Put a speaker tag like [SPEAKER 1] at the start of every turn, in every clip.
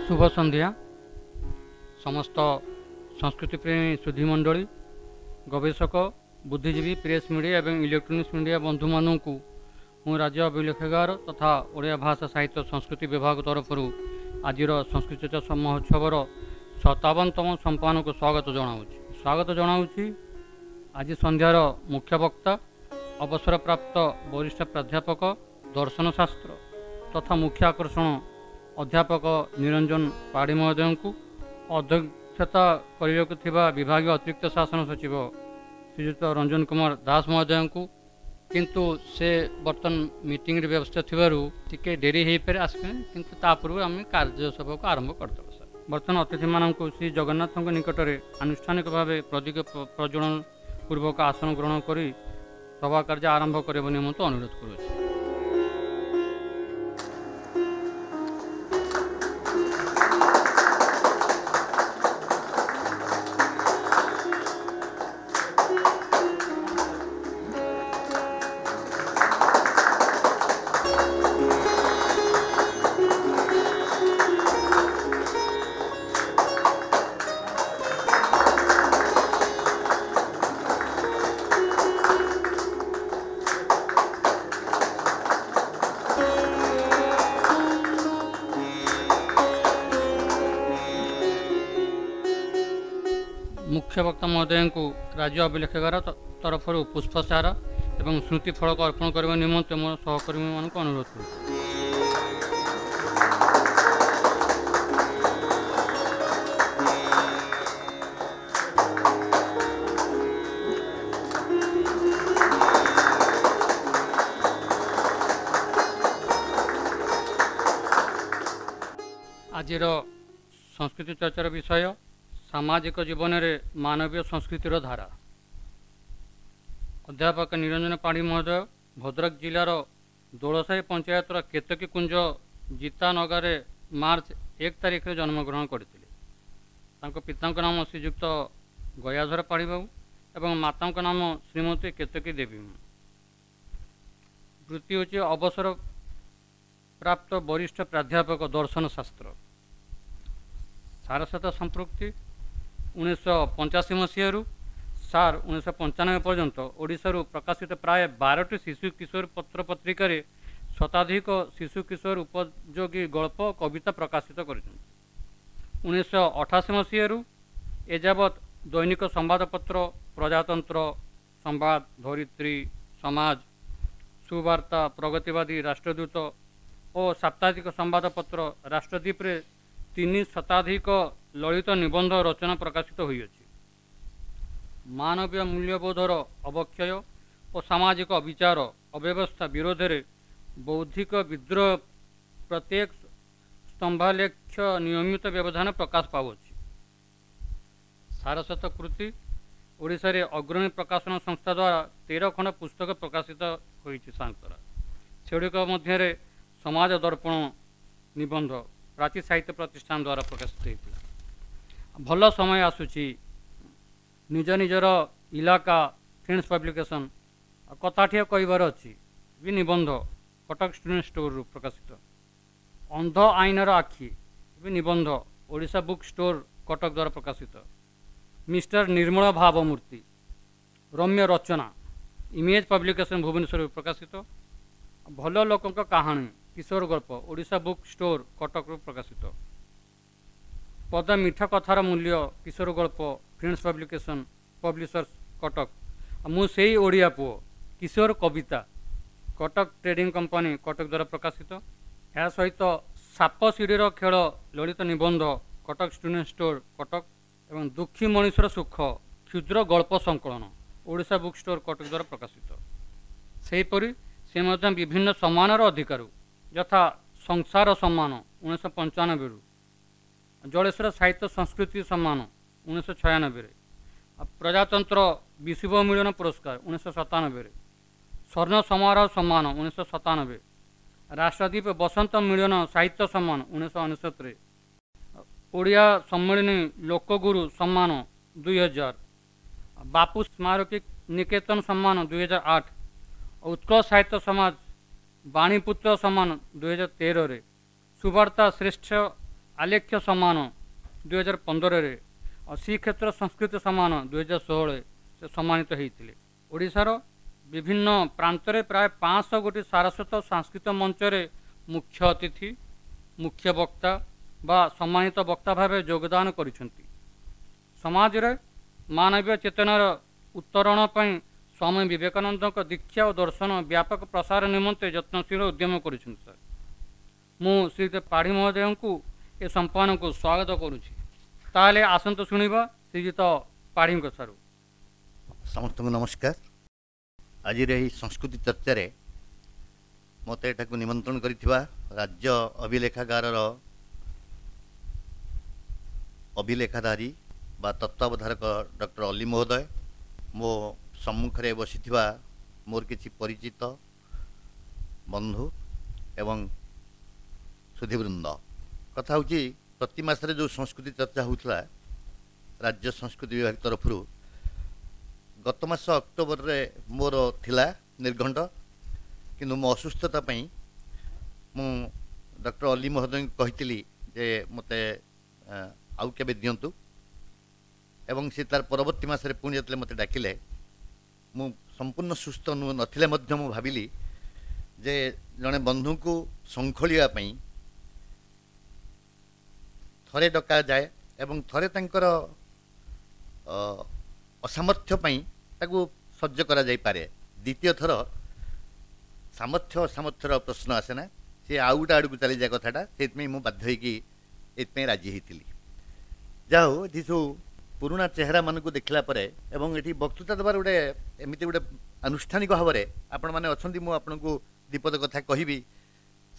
[SPEAKER 1] ଶୁଭ ସନ୍ଧ୍ୟା ସମସ୍ତ ସଂସ୍କୃତି ପ୍ରେମୀ ସୁଧୀମଣ୍ଡଳୀ, ଗବେଷକ, ବୁଦ୍ଧିଜୀବୀ, ପ୍ରେସ୍ ମିଡ଼ିଆ ଏବଂ ଇଲେକ୍ଟ୍ରୋନିକ୍ସ ମିଡ଼ିଆ ବନ୍ଧୁମାନଙ୍କୁ ମୁଁ ରାଜ୍ୟ ଅଭିଲେଖାଗାର ତଥା ଓଡ଼ିଆ ଭାଷା ସାହିତ୍ୟ ସଂସ୍କୃତି ବିଭାଗ ତରଫରୁ ଆଜିର ସଂସ୍କୃତି ଚର୍ଚ୍ଚା ମହୋତ୍ସବର 57ତମ ସମ୍ପାଦନକୁ ସ୍ୱାଗତ ଜଣାଉଛି। ସ୍ୱାଗତ ଜଣାଉଛି ଆଜି ସନ୍ଧ୍ୟାର ମୁଖ୍ୟ ବକ୍ତା ଅବସରପ୍ରାପ୍ତ ବରିଷ୍ଠ ପ୍ରାଧ୍ୟାପକ ଦର୍ଶନ ଶାସ୍ତ୍ର ତଥା ମୁଖ୍ୟ ଆକର୍ଷଣ ଅଧ୍ୟାପକ ନିରଞ୍ଜନ ପାଢ଼ୀ ମହୋଦୟଙ୍କୁ, ଅଧ୍ୟକ୍ଷତା କରିବାକୁ ଥିବା ବିଭାଗୀୟ ଅତିରିକ୍ତ ଶାସନ ସଚିବ ଶ୍ରୀଯୁକ୍ତ ରଞ୍ଜନ କୁମାର ଦାସ ମହୋଦୟଙ୍କୁ, କିନ୍ତୁ ସେ ବର୍ତ୍ତମାନ ମିଟିଂରେ ବ୍ୟବସ୍ଥା ଥିବାରୁ ଟିକେ ଡେରି ହେଇପାରେ ଆସିବେ, କିନ୍ତୁ ତା ପୂର୍ବରୁ ଆମେ କାର୍ଯ୍ୟ ସଭାକୁ ଆରମ୍ଭ କରିଦେବୁ ସାର୍। ବର୍ତ୍ତମାନ ଅତିଥିମାନଙ୍କୁ ଶ୍ରୀ ଜଗନ୍ନାଥଙ୍କ ନିକଟରେ ଆନୁଷ୍ଠାନିକ ଭାବେ ପ୍ରଦୀପ ପ୍ରଜ୍ୱଳନ ପୂର୍ବକ ଆସନ ଗ୍ରହଣ କରି ସଭା କାର୍ଯ୍ୟ ଆରମ୍ଭ କରିବା ନିମନ୍ତେ ଅନୁରୋଧ କରୁଅଛି। ମୁଖ୍ୟ ବକ୍ତା ମହୋଦୟଙ୍କୁ ରାଜ୍ୟ ଅଭିଲେଖାଗାର ତରଫରୁ ପୁଷ୍ପସାର ଏବଂ ସ୍ମୃତି ଫଳକ ଅର୍ପଣ କରିବା ନିମନ୍ତେ ମୋର ସହକର୍ମୀମାନଙ୍କୁ ଅନୁରୋଧ କରୁଛି। ଆଜିର ସଂସ୍କୃତି ଚର୍ଚ୍ଚାର ବିଷୟ ସାମାଜିକ ଜୀବନରେ ମାନବୀୟ ସଂସ୍କୃତିର ଧାରା। ଅଧ୍ୟାପକ ନିରଞ୍ଜନ ପାଢ଼ୀ ମହୋଦୟ ଭଦ୍ରକ ଜିଲ୍ଲାର ଦୋଳସାହି ପଞ୍ଚାୟତର କେତକୀ କୁଞ୍ଜ ଜିତାନଗରରେ ମାର୍ଚ୍ଚ 1 ତାରିଖରେ ଜନ୍ମଗ୍ରହଣ କରିଥିଲେ। ତାଙ୍କ ପିତାଙ୍କ ନାମ ଶ୍ରୀଯୁକ୍ତ ଗୟାଧର ପାଢ଼ୀବାବୁ ଏବଂ ମାତାଙ୍କ ନାମ ଶ୍ରୀମତୀ କେତକୀ ଦେବୀ। ବୃତ୍ତି ହେଉଛି ଅବସର ପ୍ରାପ୍ତ ବରିଷ୍ଠ ପ୍ରାଧ୍ୟାପକ ଦର୍ଶନ ଶାସ୍ତ୍ର। ସାରସ୍ୱତ ସମ୍ପୃକ୍ତି 1985 ମସିହାରୁ ସାର୍ 1995 ପର୍ଯ୍ୟନ୍ତ ଓଡ଼ିଶାରୁ ପ୍ରକାଶିତ ପ୍ରାୟ 12ଟି ଶିଶୁ କିଶୋର ପତ୍ର ପତ୍ରିକାରେ ଶତାଧିକ ଶିଶୁ କିଶୋର ଉପଯୋଗୀ ଗଳ୍ପ କବିତା ପ୍ରକାଶିତ କରିଛନ୍ତି। 1988 ମସିହାରୁ ଏଯାବତ୍ ଦୈନିକ ସମ୍ବାଦପତ୍ର ପ୍ରଜାତନ୍ତ୍ର, ସମ୍ବାଦ, ଧରିତ୍ରୀ, ସମାଜ, ସୁବାର୍ତ୍ତା, ପ୍ରଗତିବାଦୀ, ରାଷ୍ଟ୍ରଦୂତ ଓ ସାପ୍ତାହିକ ସମ୍ବାଦପତ୍ର ରାଷ୍ଟ୍ରଦୀପରେ 3 ଶତାଧିକ ଲଳିତ ନିବନ୍ଧ ରଚନା ପ୍ରକାଶିତ ହୋଇଅଛି। ମାନବୀୟ ମୂଲ୍ୟବୋଧର ଅବକ୍ଷୟ ଓ ସାମାଜିକ ଅବିଚାର ଅବ୍ୟବସ୍ଥା ବିରୋଧରେ ବୌଦ୍ଧିକ ବିଦ୍ରୋହ ପ୍ରତ୍ୟେକ ସ୍ତମ୍ଭାଲେଖ୍ୟ ନିୟମିତ ବ୍ୟବଧାନ ପ୍ରକାଶ ପାଉଅଛି। ସାରସ୍ୱତ କୃତି ଓଡ଼ିଶାରେ ଅଗ୍ରଣୀ ପ୍ରକାଶନ ସଂସ୍ଥା ଦ୍ୱାରା 13 ଖଣ୍ଡ ପୁସ୍ତକ ପ୍ରକାଶିତ ହୋଇଛି ସାର୍ଙ୍କର। ସେଗୁଡ଼ିକ ମଧ୍ୟରେ ସମାଜ ଦର୍ପଣ ନିବନ୍ଧ ପ୍ରାଚୀ ସାହିତ୍ୟ ପ୍ରତିଷ୍ଠାନ ଦ୍ୱାରା ପ୍ରକାଶିତ ହୋଇଥିଲା। ଭଲ ସମୟ ଆସୁଛି, ନିଜ ନିଜର ଇଲାକା ଫ୍ରେଣ୍ଡସ୍ ପବ୍ଲିକେସନ୍, କଥାଟିଏ କହିବାର ଅଛି ବି ନିବନ୍ଧ କଟକ ଷ୍ଟୁଡେଣ୍ଟ ଷ୍ଟୋରରୁ ପ୍ରକାଶିତ। ଅନ୍ଧ ଆଇନର ଆଖି ବି ନିବନ୍ଧ ଓଡ଼ିଶା ବୁକ୍ ଷ୍ଟୋର କଟକ ଦ୍ୱାରା ପ୍ରକାଶିତ। ମିଷ୍ଟର ନିର୍ମଳ ଭାବମୂର୍ତ୍ତି ରମ୍ୟ ରଚନା ଇମେଜ୍ ପବ୍ଲିକେସନ୍ ଭୁବନେଶ୍ୱରରୁ ପ୍ରକାଶିତ। ଭଲ ଲୋକଙ୍କ କାହାଣୀ କିଶୋର ଗଳ୍ପ ଓଡ଼ିଶା ବୁକ୍ ଷ୍ଟୋର କଟକରୁ ପ୍ରକାଶିତ। ପଦ ମିଠା କଥାର ମୂଲ୍ୟ କିଶୋର ଗଳ୍ପ ଫ୍ରେଣ୍ଡସ୍ ପବ୍ଲିକେସନ୍ ପବ୍ଲିସର୍ସ କଟକ। ମୁଁ ସେଇ ଓଡ଼ିଆ ପୁଅ କିଶୋର କବିତା କଟକ ଟ୍ରେଡିଂ କମ୍ପାନୀ କଟକ ଦ୍ୱାରା ପ୍ରକାଶିତ। ଏହା ସହିତ ସାପ ସିଡ଼ିର ଖେଳ ଲଳିତ ନିବନ୍ଧ କଟକ ଷ୍ଟୁଡେଣ୍ଟ ଷ୍ଟୋର କଟକ ଏବଂ ଦୁଃଖୀ ମଣିଷର ସୁଖ କ୍ଷୁଦ୍ର ଗଳ୍ପ ସଂକଳନ ଓଡ଼ିଶା ବୁକ୍ ଷ୍ଟୋର କଟକ ଦ୍ୱାରା ପ୍ରକାଶିତ। ସେହିପରି ସେ ମଧ୍ୟ ବିଭିନ୍ନ ସମ୍ମାନର ଅଧିକାରୀ, ଯଥା ସଂସାର ସମ୍ମାନ 1995ରୁ, ଜଳେଶ୍ୱର ସାହିତ୍ୟ ସଂସ୍କୃତି ସମ୍ମାନ 1996ରେ, ପ୍ରଜାତନ୍ତ୍ର ବିଷୁବ ମିଳନ ପୁରସ୍କାର 1997ରେ, ସ୍ୱର୍ଣ୍ଣ ସମାରୋହ ସମ୍ମାନ 1997, ରାଷ୍ଟ୍ରଦୀପ ବସନ୍ତ ମିଳନ ସାହିତ୍ୟ ସମ୍ମାନ 1999ରେ, ଓଡ଼ିଆ ସମ୍ମିଳନୀ ଲୋକଗୁରୁ ସମ୍ମାନ 2000, ବାପୁ ସ୍ମାରକୀ ନିକେତନ ସମ୍ମାନ 2008, ଉତ୍କଳ ସାହିତ୍ୟ ସମାଜ ବାଣୀପୁତ୍ର ସମ୍ମାନ 2013ରେ, ସୁବାର୍ତ୍ତା ଶ୍ରେଷ୍ଠ ଆଲେଖ୍ୟ ସମ୍ମାନ 2015ରେ, ଶ୍ରୀକ୍ଷେତ୍ର ସଂସ୍କୃତି ସମ୍ମାନ 2016 ସେ ସମ୍ମାନିତ ହୋଇଥିଲେ। ଓଡ଼ିଶାର ବିଭିନ୍ନ ପ୍ରାନ୍ତରେ ପ୍ରାୟ 500 ଗୋଟି ସାରସ୍ୱତ ସାଂସ୍କୃତିକ ମଞ୍ଚରେ ମୁଖ୍ୟ ଅତିଥି, ମୁଖ୍ୟ ବକ୍ତା ବା ସମ୍ମାନିତ ବକ୍ତା ଭାବେ ଯୋଗଦାନ କରିଛନ୍ତି। ସମାଜରେ ମାନବୀୟ ଚେତନାର ଉତ୍ତରଣ ପାଇଁ ସ୍ୱାମୀ ବିବେକାନନ୍ଦଙ୍କ ଦୀକ୍ଷା ଓ ଦର୍ଶନ ବ୍ୟାପକ ପ୍ରସାର ନିମନ୍ତେ ଯତ୍ନଶୀଳ ଉଦ୍ୟମ କରିଛନ୍ତି। ସାର୍, ମୁଁ ଶ୍ରୀଯୁକ୍ତ ପାଢ଼ୀ ମହୋଦୟଙ୍କୁ ଏ ସମ୍ପାଦନକୁ ସ୍ୱାଗତ କରୁଛି। ତାହେଲେ ଆସନ୍ତୁ ଶୁଣିବା ଶ୍ରୀଯୁକ୍ତ ପାଢ଼ୀଙ୍କ ଠାରୁ।
[SPEAKER 2] ସମସ୍ତଙ୍କୁ ନମସ୍କାର। ଆଜିର ଏହି ସଂସ୍କୃତି ଚର୍ଚ୍ଚାରେ ମୋତେ ଏଠାକୁ ନିମନ୍ତ୍ରଣ କରିଥିବା ରାଜ୍ୟ ଅଭିଲେଖାଗାରର ଅଭିଲେଖାଧାରୀ ବା ତତ୍ତ୍ୱାବଧାରକ ଡକ୍ଟର ଅଲି ମହୋଦୟ, ମୋ ସମ୍ମୁଖରେ ବସିଥିବା ମୋର କିଛି ପରିଚିତ ବନ୍ଧୁ ଏବଂ ସୁଧୀବୃନ୍ଦ, କଥା ହେଉଛି ପ୍ରତି ମାସରେ ଯେଉଁ ସଂସ୍କୃତି ଚର୍ଚ୍ଚା ହେଉଥିଲା ରାଜ୍ୟ ସଂସ୍କୃତି ବିଭାଗ ତରଫରୁ, ଗତ ମାସ ଅକ୍ଟୋବରରେ ମୋର ଥିଲା ନିର୍ଘଣ୍ଟ, କିନ୍ତୁ ମୋ ଅସୁସ୍ଥତା ପାଇଁ ମୁଁ ଡକ୍ଟର ଅଲି ମହୋଦୟଙ୍କୁ କହିଥିଲି ଯେ ମୋତେ ଆଉ କେବେ ଦିଅନ୍ତୁ, ଏବଂ ସେ ତାର ପରବର୍ତ୍ତୀ ମାସରେ ପୁଣି ଯେତେବେଳେ ମୋତେ ଡାକିଲେ, ମୁଁ ସମ୍ପୂର୍ଣ୍ଣ ସୁସ୍ଥ ନଥିଲେ ମଧ୍ୟ ମୁଁ ଭାବିଲି ଯେ ଜଣେ ବନ୍ଧୁଙ୍କୁ ଶଙ୍ଖୋଳିବା ପାଇଁ ଥରେ ଡକାଯାଏ ଏବଂ ଥରେ ତାଙ୍କର ଅସାମର୍ଥ୍ୟ ପାଇଁ ତାକୁ ସହ୍ୟ କରାଯାଇପାରେ। ଦ୍ୱିତୀୟ ଥର ସାମର୍ଥ୍ୟ ଅସାମର୍ଥ୍ୟର ପ୍ରଶ୍ନ ଆସେ ନା, ସେ ଆଉ ଗୋଟେ ଆଡ଼କୁ ଚାଲିଯାଏ କଥାଟା। ସେଇଥିପାଇଁ ମୁଁ ବାଧ୍ୟ ହେଇକି ଏଇଥିପାଇଁ ରାଜି ହେଇଥିଲି। ଯାହା ହଉ, ଏଠି ସବୁ ପୁରୁଣା ଚେହେରାମାନଙ୍କୁ ଦେଖିଲା ପରେ ଏବଂ ଏଠି ବକ୍ତୃତା ଦେବାର ଗୋଟେ ଏମିତି ଗୋଟେ ଆନୁଷ୍ଠାନିକ ଭାବରେ ଆପଣମାନେ ଅଛନ୍ତି, ମୁଁ ଆପଣଙ୍କୁ ଦ୍ୱିପଦ କଥା କହିବି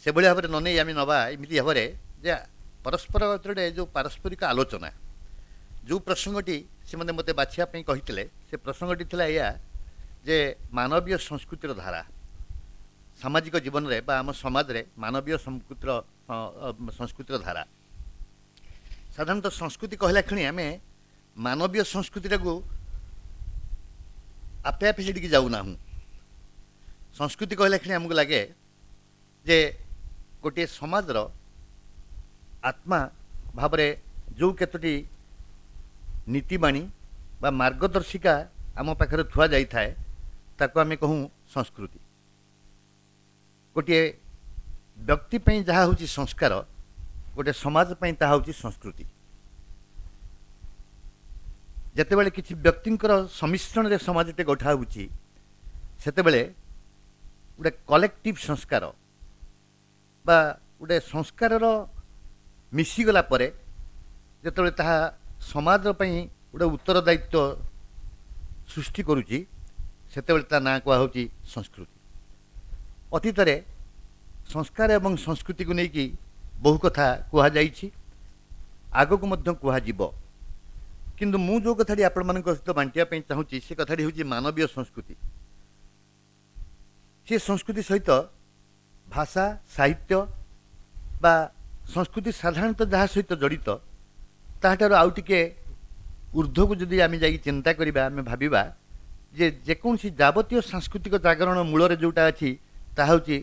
[SPEAKER 2] ସେଭଳି ଭାବରେ ନ ନେଇ ଆମେ ନେବା ଏମିତି ଭାବରେ ଯେ ପରସ୍ପର ଭିତରେ ଯେଉଁ ପାରସ୍ପରିକ ଆଲୋଚନା, ଯେଉଁ ପ୍ରସଙ୍ଗଟି ସେମାନେ ମୋତେ ବାଛିବା ପାଇଁ କହିଥିଲେ, ସେ ପ୍ରସଙ୍ଗଟି ଥିଲା ଏଇଆ ଯେ ମାନବୀୟ ସଂସ୍କୃତିର ଧାରା ସାମାଜିକ ଜୀବନରେ ବା ଆମ ସମାଜରେ ମାନବୀୟ ସଂସ୍କୃତିର ଧାରା। ସାଧାରଣତଃ ସଂସ୍କୃତି କହିଲା କ୍ଷଣି ଆମେ ମାନବୀୟ ସଂସ୍କୃତିଟାକୁ ଆପେ ଆପେ ସେଠିକି ଯାଉନାହୁଁ। ସଂସ୍କୃତି କହିଲା କ୍ଷଣି ଆମକୁ ଲାଗେ ଯେ ଗୋଟିଏ ସମାଜର ଆତ୍ମା ଭାବରେ ଯେଉଁ କେତୋଟି ନୀତିବାଣୀ ବା ମାର୍ଗଦର୍ଶିକା ଆମ ପାଖରେ ଥୁଆ ଯାଇଥାଏ, ତାକୁ ଆମେ କହୁଁ ସଂସ୍କୃତି। ଗୋଟିଏ ବ୍ୟକ୍ତି ପାଇଁ ଯାହା ହେଉଛି ସଂସ୍କାର, ଗୋଟିଏ ସମାଜ ପାଇଁ ତାହା ହେଉଛି ସଂସ୍କୃତି। ଯେତେବେଳେ କିଛି ବ୍ୟକ୍ତିଙ୍କର ସମ୍ମିଶ୍ରଣରେ ସମାଜଟେ ଗଠା ହେଉଛି, ସେତେବେଳେ ଗୋଟେ କଲେକ୍ଟିଭ୍ ସଂସ୍କାର ବା ଗୋଟେ ସଂସ୍କାରର ମିଶିଗଲା ପରେ ଯେତେବେଳେ ତାହା ସମାଜ ପାଇଁ ଗୋଟେ ଉତ୍ତରଦାୟିତ୍ୱ ସୃଷ୍ଟି କରୁଛି, ସେତେବେଳେ ତା ନାଁ କୁହାହେଉଛି ସଂସ୍କୃତି। ଅତୀତରେ ସଂସ୍କାର ଏବଂ ସଂସ୍କୃତିକୁ ନେଇକି ବହୁ କଥା କୁହାଯାଇଛି, ଆଗକୁ ମଧ୍ୟ କୁହାଯିବ। କିନ୍ତୁ ମୁଁ ଯେଉଁ କଥାଟି ଆପଣମାନଙ୍କ ସହିତ ବାଣ୍ଟିବା ପାଇଁ ଚାହୁଁଛି, ସେ କଥାଟି ହେଉଛି ମାନବୀୟ ସଂସ୍କୃତି। ସେ ସଂସ୍କୃତି ସହିତ ଭାଷା, ସାହିତ୍ୟ ବା ସଂସ୍କୃତି ସାଧାରଣତଃ ଯାହା ସହିତ ଜଡ଼ିତ, ତାହାଠାରୁ ଆଉ ଟିକେ ଉର୍ଦ୍ଧ୍ୱକୁ ଯଦି ଆମେ ଯାଇକି ଚିନ୍ତା କରିବା, ଆମେ ଭାବିବା ଯେ ଯେକୌଣସି ଯାବତୀୟ ସାଂସ୍କୃତିକ ଜାଗରଣ ମୂଳରେ ଯେଉଁଟା ଅଛି, ତାହା ହେଉଛି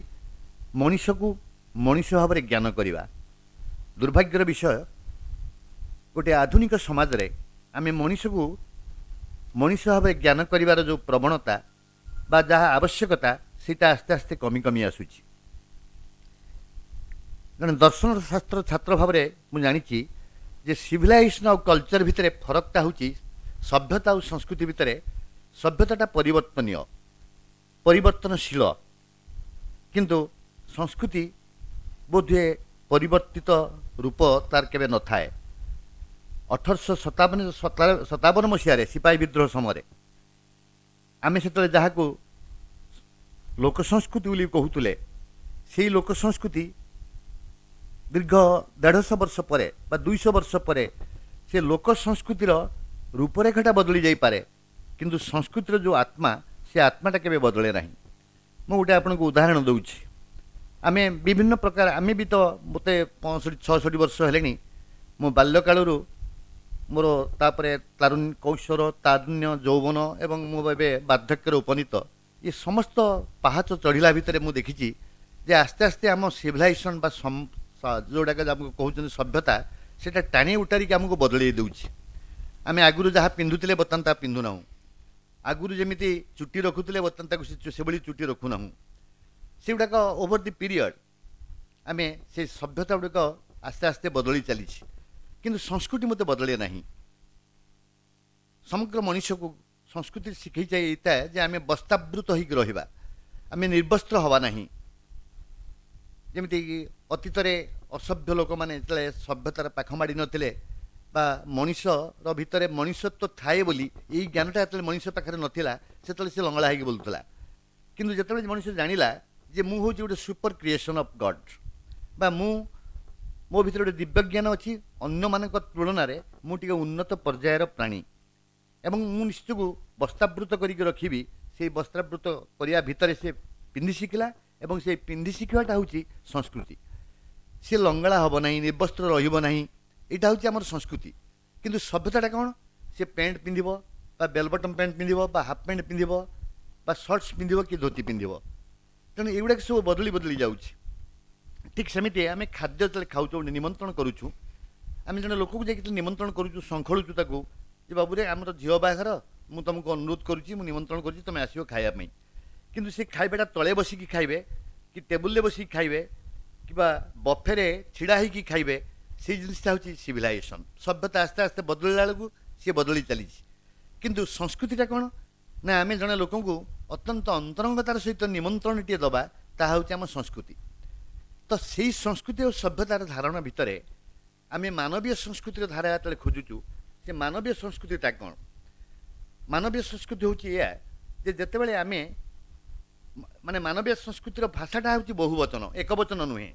[SPEAKER 2] ମଣିଷକୁ ମଣିଷ ଭାବରେ ଜ୍ଞାନ କରିବା। ଦୁର୍ଭାଗ୍ୟର ବିଷୟ, ଗୋଟିଏ ଆଧୁନିକ ସମାଜରେ ଆମେ ମଣିଷକୁ ମଣିଷ ଭାବରେ ଜ୍ଞାନ କରିବାର ଯେଉଁ ପ୍ରବଣତା ବା ଯାହା ଆବଶ୍ୟକତା, ସେଇଟା ଆସ୍ତେ ଆସ୍ତେ କମି କମି ଆସୁଛି। ଜଣେ ଦର୍ଶନ ଶାସ୍ତ୍ର ଛାତ୍ର ଭାବରେ ମୁଁ ଜାଣିଛି ଯେ ସିଭିଲାଇଜେସନ୍ ଆଉ କଲଚର ଭିତରେ ଫରକଟା ହେଉଛି, ସଭ୍ୟତା ଆଉ ସଂସ୍କୃତି ଭିତରେ ସଭ୍ୟତାଟା ପରିବର୍ତ୍ତନୀୟ, ପରିବର୍ତ୍ତନଶୀଳ, କିନ୍ତୁ ସଂସ୍କୃତି ବୋଧହୁଏ ପରିବର୍ତ୍ତିତ ରୂପ ତାର କେବେ ନଥାଏ। 1857 ମସିହାରେ ସିପାହୀ ବିଦ୍ରୋହ ସମୟରେ ଆମେ ସେତେବେଳେ ଯାହାକୁ ଲୋକ ସଂସ୍କୃତି ବୋଲି କହୁଥିଲେ, ସେଇ ଲୋକ ସଂସ୍କୃତି ଦୀର୍ଘ 150 ବର୍ଷ ପରେ ବା 200 ବର୍ଷ ପରେ ସେ ଲୋକ ସଂସ୍କୃତିର ରୂପରେଖଟା ବଦଳି ଯାଇପାରେ, କିନ୍ତୁ ସଂସ୍କୃତିର ଯେଉଁ ଆତ୍ମା, ସେ ଆତ୍ମାଟା କେବେ ବଦଳେ ନାହିଁ। ମୁଁ ଗୋଟେ ଆପଣଙ୍କୁ ଉଦାହରଣ ଦେଉଛି। ଆମେ ବିଭିନ୍ନ ପ୍ରକାର, ଆମେ ବି ତ, ମୋତେ 65 66 ବର୍ଷ ହେଲେଣି, ମୋ ବାଲ୍ୟକାଳରୁ ମୋର ତାପରେ ତାରୁଣ୍ୟ, କୈଶୋର, ତାରୁଣ୍ୟ, ଯୌବନ ଏବଂ ମୁଁ ଏବେ ବାର୍ଦ୍ଧକ୍ୟରେ ଉପନୀତ। ଏ ସମସ୍ତ ପାହାଚ ଚଢ଼ିଲା ଭିତରେ ମୁଁ ଦେଖିଛି ଯେ ଆସ୍ତେ ଆସ୍ତେ ଆମ ସିଭିଲାଇଜେସନ୍ ବା ଯେଉଁଟାକ ଆମକୁ କହୁଛନ୍ତି ସଭ୍ୟତା, ସେଇଟା ଟାଣି ଉଟାରିକି ଆମକୁ ବଦଳେଇ ଦେଉଛି। ଆମେ ଆଗରୁ ଯାହା ପିନ୍ଧୁଥିଲେ ବର୍ତ୍ତମାନ ତାହା ପିନ୍ଧୁନାହୁଁ। ଆଗରୁ ଯେମିତି ଚୁଟି ରଖୁଥିଲେ ବର୍ତ୍ତମାନ ତାକୁ ସେଭଳି ଚୁଟି ରଖୁନାହୁଁ। ସେଗୁଡ଼ାକ ଓଭର ଦି ପିରିୟଡ଼ ଆମେ ସେ ସଭ୍ୟତା ଗୁଡ଼ିକ ଆସ୍ତେ ଆସ୍ତେ ବଦଳି ଚାଲିଛି, କିନ୍ତୁ ସଂସ୍କୃତି ମୋତେ ବଦଳେ ନାହିଁ। ସମଗ୍ର ମଣିଷକୁ ସଂସ୍କୃତି ଶିଖେଇ ଯାଇଥାଏ ଯେ ଆମେ ବସ୍ତାବୃତ ହେଇକି ରହିବା, ଆମେ ନିର୍ବସ୍ତ୍ର ହେବା ନାହିଁ। ଯେମିତିକି ଅତୀତରେ ଅସଭ୍ୟ ଲୋକମାନେ ଯେତେବେଳେ ସଭ୍ୟତାର ପାଖ ମାଡ଼ି ନଥିଲେ ବା ମଣିଷର ଭିତରେ ମଣିଷତ୍ୱ ଥାଏ ବୋଲି ଏଇ ଜ୍ଞାନଟା ଯେତେବେଳେ ମଣିଷ ପାଖରେ ନଥିଲା, ସେତେବେଳେ ସେ ଲଙ୍ଗଳା ହେଇକି ବୁଲୁଥିଲା। କିନ୍ତୁ ଯେତେବେଳେ ମଣିଷ ଜାଣିଲା ଯେ ମୁଁ ହେଉଛି ଗୋଟେ ସୁପର କ୍ରିଏସନ୍ ଅଫ୍ ଗଡ଼୍, ବା ମୁଁ ମୋ ଭିତରେ ଗୋଟେ ଦିବ୍ୟଜ୍ଞାନ ଅଛି, ଅନ୍ୟମାନଙ୍କ ତୁଳନାରେ ମୁଁ ଟିକେ ଉନ୍ନତ ପର୍ଯ୍ୟାୟର ପ୍ରାଣୀ ଏବଂ ମୁଁ ନିଶ୍ଚୟକୁ ବସ୍ତ୍ରାବୃତ କରିକି ରଖିବି, ସେଇ ବସ୍ତ୍ରାବୃତ କରିବା ଭିତରେ ସେ ପିନ୍ଧି ଶିଖିଲା ଏବଂ ସେଇ ପିନ୍ଧି ଶିଖିବାଟା ହେଉଛି ସଂସ୍କୃତି। ସେ ଲଙ୍ଗଳା ହେବ ନାହିଁ, ନିର୍ବସ୍ତ୍ର ରହିବ ନାହିଁ, ଏଇଟା ହେଉଛି ଆମର ସଂସ୍କୃତି। କିନ୍ତୁ ସଭ୍ୟତାଟା କ'ଣ? ସେ ପ୍ୟାଣ୍ଟ ପିନ୍ଧିବ ବା ବେଲ୍ ବଟନ୍ ପ୍ୟାଣ୍ଟ ପିନ୍ଧିବ ବା ହାଫ୍ ପ୍ୟାଣ୍ଟ ପିନ୍ଧିବ ବା ସର୍ଟସ୍ ପିନ୍ଧିବ କି ଧୋତି ପିନ୍ଧିବ। ତେଣୁ ଏଗୁଡ଼ାକ ସବୁ ବଦଳି ବଦଳି ଯାଉଛି। ଠିକ୍ ସେମିତି ଆମେ ଖାଦ୍ୟ ଯେତେବେଳେ ଖାଉଛୁ, ଗୋଟେ ନିମନ୍ତ୍ରଣ କରୁଛୁ, ଆମେ ଜଣେ ଲୋକକୁ ଯାଇକି ଯେତେବେଳେ ନିମନ୍ତ୍ରଣ କରୁଛୁ, ଶଙ୍ଖଳୁଛୁ ତାକୁ ଯେ ବାବୁରେ ଆମର ଝିଅ ବାହାଘର, ମୁଁ ତୁମକୁ ଅନୁରୋଧ କରୁଛି, ମୁଁ ନିମନ୍ତ୍ରଣ କରୁଛି, ତୁମେ ଆସିବ ଖାଇବା ପାଇଁ। କିନ୍ତୁ ସେ ଖାଇବାଟା ତଳେ ବସିକି ଖାଇବେ କି ଟେବୁଲରେ ବସିକି ଖାଇବେ କିମ୍ବା ବଫେରେ ଛିଡ଼ା ହେଇକି ଖାଇବେ, ସେଇ ଜିନିଷଟା ହେଉଛି ସିଭିଲାଇଜେସନ୍। ସଭ୍ୟତା ଆସ୍ତେ ଆସ୍ତେ ବଦଳିଲା ବେଳକୁ ସିଏ ବଦଳି ଚାଲିଛି। କିନ୍ତୁ ସଂସ୍କୃତିଟା କ'ଣ ନା ଆମେ ଜଣେ ଲୋକଙ୍କୁ ଅତ୍ୟନ୍ତ ଅନ୍ତରଙ୍ଗତାର ସହିତ ନିମନ୍ତ୍ରଣଟିଏ ଦେବା, ତାହା ହେଉଛି ଆମ ସଂସ୍କୃତି। ତ ସେଇ ସଂସ୍କୃତି ଓ ସଭ୍ୟତାର ଧାରଣା ଭିତରେ ଆମେ ମାନବୀୟ ସଂସ୍କୃତିର ଧାରା ଯେତେବେଳେ ଖୋଜୁଛୁ, ସେ ମାନବୀୟ ସଂସ୍କୃତିଟା କ'ଣ? ମାନବୀୟ ସଂସ୍କୃତି ହେଉଛି ଏଇଆ ଯେ ଯେତେବେଳେ ଆମେ ମାନେ ମାନବୀୟ ସଂସ୍କୃତିର ଭାଷାଟା ହେଉଛି ବହୁବଚନ, ଏକବଚନ ନୁହେଁ।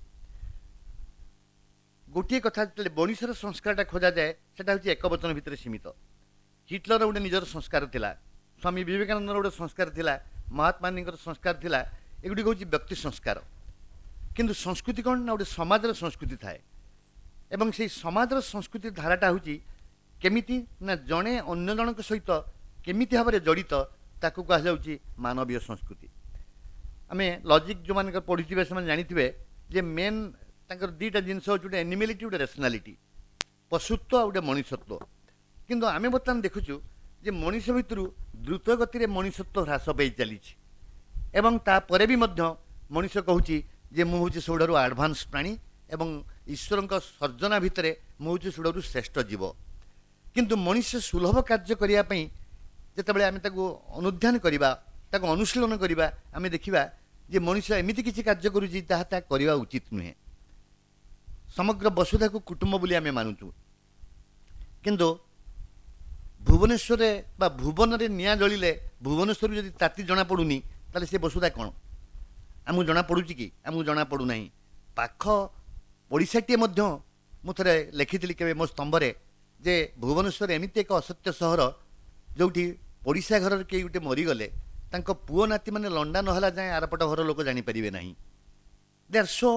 [SPEAKER 2] ଗୋଟିଏ କଥା ଯେତେବେଳେ ମଣିଷର ସଂସ୍କାରଟା ଖୋଜାଯାଏ, ସେଟା ହେଉଛି ଏକବଚନ ଭିତରେ ସୀମିତ। ହିଟଲର ଗୋଟେ ନିଜର ସଂସ୍କାର ଥିଲା, ସ୍ୱାମୀ ବିବେକାନନ୍ଦର ଗୋଟେ ସଂସ୍କାର ଥିଲା, ମହାତ୍ମା ଗାନ୍ଧୀଙ୍କର ସଂସ୍କାର ଥିଲା। ଏଗୁଡ଼ିକ ହେଉଛି ବ୍ୟକ୍ତି ସଂସ୍କାର। କିନ୍ତୁ ସଂସ୍କୃତି କ'ଣ ନା ଗୋଟେ ସମାଜର ସଂସ୍କୃତି ଥାଏ, ଏବଂ ସେଇ ସମାଜର ସଂସ୍କୃତି ଧାରାଟା ହେଉଛି କେମିତି ନା ଜଣେ ଅନ୍ୟ ଜଣଙ୍କ ସହିତ କେମିତି ଭାବରେ ଜଡ଼ିତ, ତାକୁ କୁହାଯାଉଛି ମାନବୀୟ ସଂସ୍କୃତି। ଆମେ ଲଜିକ୍ ଯେଉଁମାନଙ୍କର ପଢ଼ିଥିବେ ସେମାନେ ଜାଣିଥିବେ ଯେ ମେନ୍ ତାଙ୍କର ଦୁଇଟା ଜିନିଷ ହେଉଛି, ଗୋଟେ ଆନିମାଲିଟି, ଗୋଟେ ରେସନାଲିଟି, ପଶୁତ୍ୱ ଆଉ ଗୋଟେ ମଣିଷତ୍ୱ। କିନ୍ତୁ ଆମେ ବର୍ତ୍ତମାନ ଦେଖୁଛୁ ଯେ ମଣିଷ ଭିତରୁ ଦ୍ରୁତ ଗତିରେ ମଣିଷତ୍ୱ ହ୍ରାସ ପାଇ ଚାଲିଛି, ଏବଂ ତାପରେ ବି ମଧ୍ୟ ମଣିଷ କହୁଛି ଯେ ମୁଁ ହେଉଛି ସବୁଠାରୁ ଆଡ଼ଭାନ୍ସ ପ୍ରାଣୀ ଏବଂ ଈଶ୍ୱରଙ୍କ ସର୍ଜନା ଭିତରେ ମୁଁ ହେଉଛି ସବୁଠାରୁ ଶ୍ରେଷ୍ଠ ଜୀବ। କିନ୍ତୁ ମଣିଷ ସୁଲଭ କାର୍ଯ୍ୟ କରିବା ପାଇଁ ଯେତେବେଳେ ଆମେ ତାକୁ ଅନୁଧ୍ୟାନ କରିବା, ତାକୁ ଅନୁଶୀଳନ କରିବା, ଆମେ ଦେଖିବା ଯେ ମଣିଷ ଏମିତି କିଛି କାର୍ଯ୍ୟ କରୁଛି ତାହା ତାହା କରିବା ଉଚିତ ନୁହେଁ। ସମଗ୍ର ବସୁଧାକୁ କୁଟୁମ୍ବ ବୋଲି ଆମେ ମାନୁଛୁ, କିନ୍ତୁ ଭୁବନେଶ୍ୱରରେ ବା ଭୁବନରେ ନିଆଁ ଜଳିଲେ ଭୁବନେଶ୍ୱରରୁ ଯଦି ତାତି ଜଣାପଡ଼ୁନି, ତାହେଲେ ସେ ବସୁଧା କ'ଣ? ଆମକୁ ଜଣାପଡ଼ୁଛି କି? ଆମକୁ ଜଣାପଡ଼ୁନାହିଁ। ପାଖ ପଡ଼ିଶାଟିଏ ମଧ୍ୟ, ମୁଁ ଥରେ ଲେଖିଥିଲି କେବେ ମୋ ସ୍ତମ୍ଭରେ ଯେ ଭୁବନେଶ୍ୱର ଏମିତି ଏକ ଅସତ୍ୟ ସହର ଯେଉଁଠି ପଡ଼ିଶା ଘରର କେହି ଗୋଟେ ମରିଗଲେ ତାଙ୍କ ପୁଅ ନାତିମାନେ ଲଣ୍ଡା ନହେଲା ଯାଏଁ ଆରପଟ ଘର ଲୋକ ଜାଣିପାରିବେ ନାହିଁ। They are so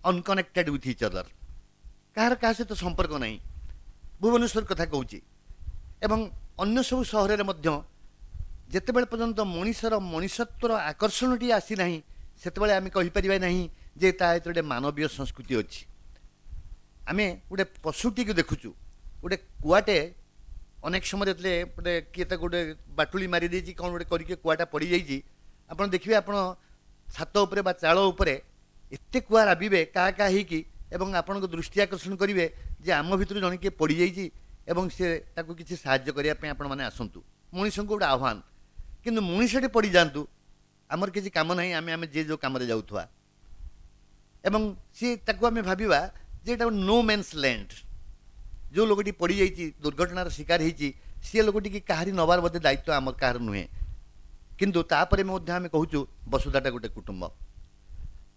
[SPEAKER 2] unconnected with each other, କାହାର କାହା ସହିତ ସମ୍ପର୍କ ନାହିଁ। ଭୁବନେଶ୍ୱର କଥା କହୁଛି, ଏବଂ ଅନ୍ୟ ସବୁ ସହରରେ ମଧ୍ୟ ଯେତେବେଳେ ପର୍ଯ୍ୟନ୍ତ ମଣିଷର ମଣିଷତ୍ୱର ଆକର୍ଷଣଟି ଆସିନାହିଁ, ସେତେବେଳେ ଆମେ କହିପାରିବା ନାହିଁ ଯେ ତା ଭିତରେ ଗୋଟେ ମାନବୀୟ ସଂସ୍କୃତି ଅଛି। ଆମେ ଗୋଟେ ପଶୁଟିକୁ ଦେଖୁଛୁ, ଗୋଟେ କୁଆଟେ ଅନେକ ସମୟରେ ଯେତେବେଳେ ଗୋଟେ କିଏ ତାକୁ ଗୋଟେ ବାଟୁଳି ମାରିଦେଇଛି, କ'ଣ ଗୋଟେ କରିକି କୁଆଟା ପଡ଼ିଯାଇଛି, ଆପଣ ଦେଖିବେ ଆପଣ ଛାତ ଉପରେ ବା ଚାଳ ଉପରେ ଏତେ କୁଆ ରାବିବେ କାହା କାହା ହେଇକି, ଏବଂ ଆପଣଙ୍କ ଦୃଷ୍ଟି ଆକର୍ଷଣ କରିବେ ଯେ ଆମ ଭିତରୁ ଜଣେ କିଏ ପଡ଼ିଯାଇଛି ଏବଂ ସେ ତାକୁ କିଛି ସାହାଯ୍ୟ କରିବା ପାଇଁ ଆପଣମାନେ ଆସନ୍ତୁ। ମଣିଷଙ୍କୁ ଗୋଟେ ଆହ୍ୱାନ। କିନ୍ତୁ ମଣିଷଟି ପଡ଼ିଯାଆନ୍ତୁ, ଆମର କିଛି କାମ ନାହିଁ, ଆମେ ଆମେ ଯିଏ ଯେଉଁ କାମରେ ଯାଉଥିବା, ଏବଂ ସିଏ ତାକୁ ଆମେ ଭାବିବା ଯେ ଏଇଟା ନୋ ମେନ୍ସ ଲ୍ୟାଣ୍ଡ। ଯେଉଁ ଲୋକଟି ପଡ଼ିଯାଇଛି, ଦୁର୍ଘଟଣାର ଶିକାର ହେଇଛି, ସିଏ ଲୋକଟିକି କାହାରି ନେବାର ବୋଧେ ଦାୟିତ୍ୱ ଆମର କାହାର ନୁହେଁ। କିନ୍ତୁ ତାପରେ ମଧ୍ୟ ଆମେ କହୁଛୁ ବସୁଧାଟା ଗୋଟେ କୁଟୁମ୍ବ।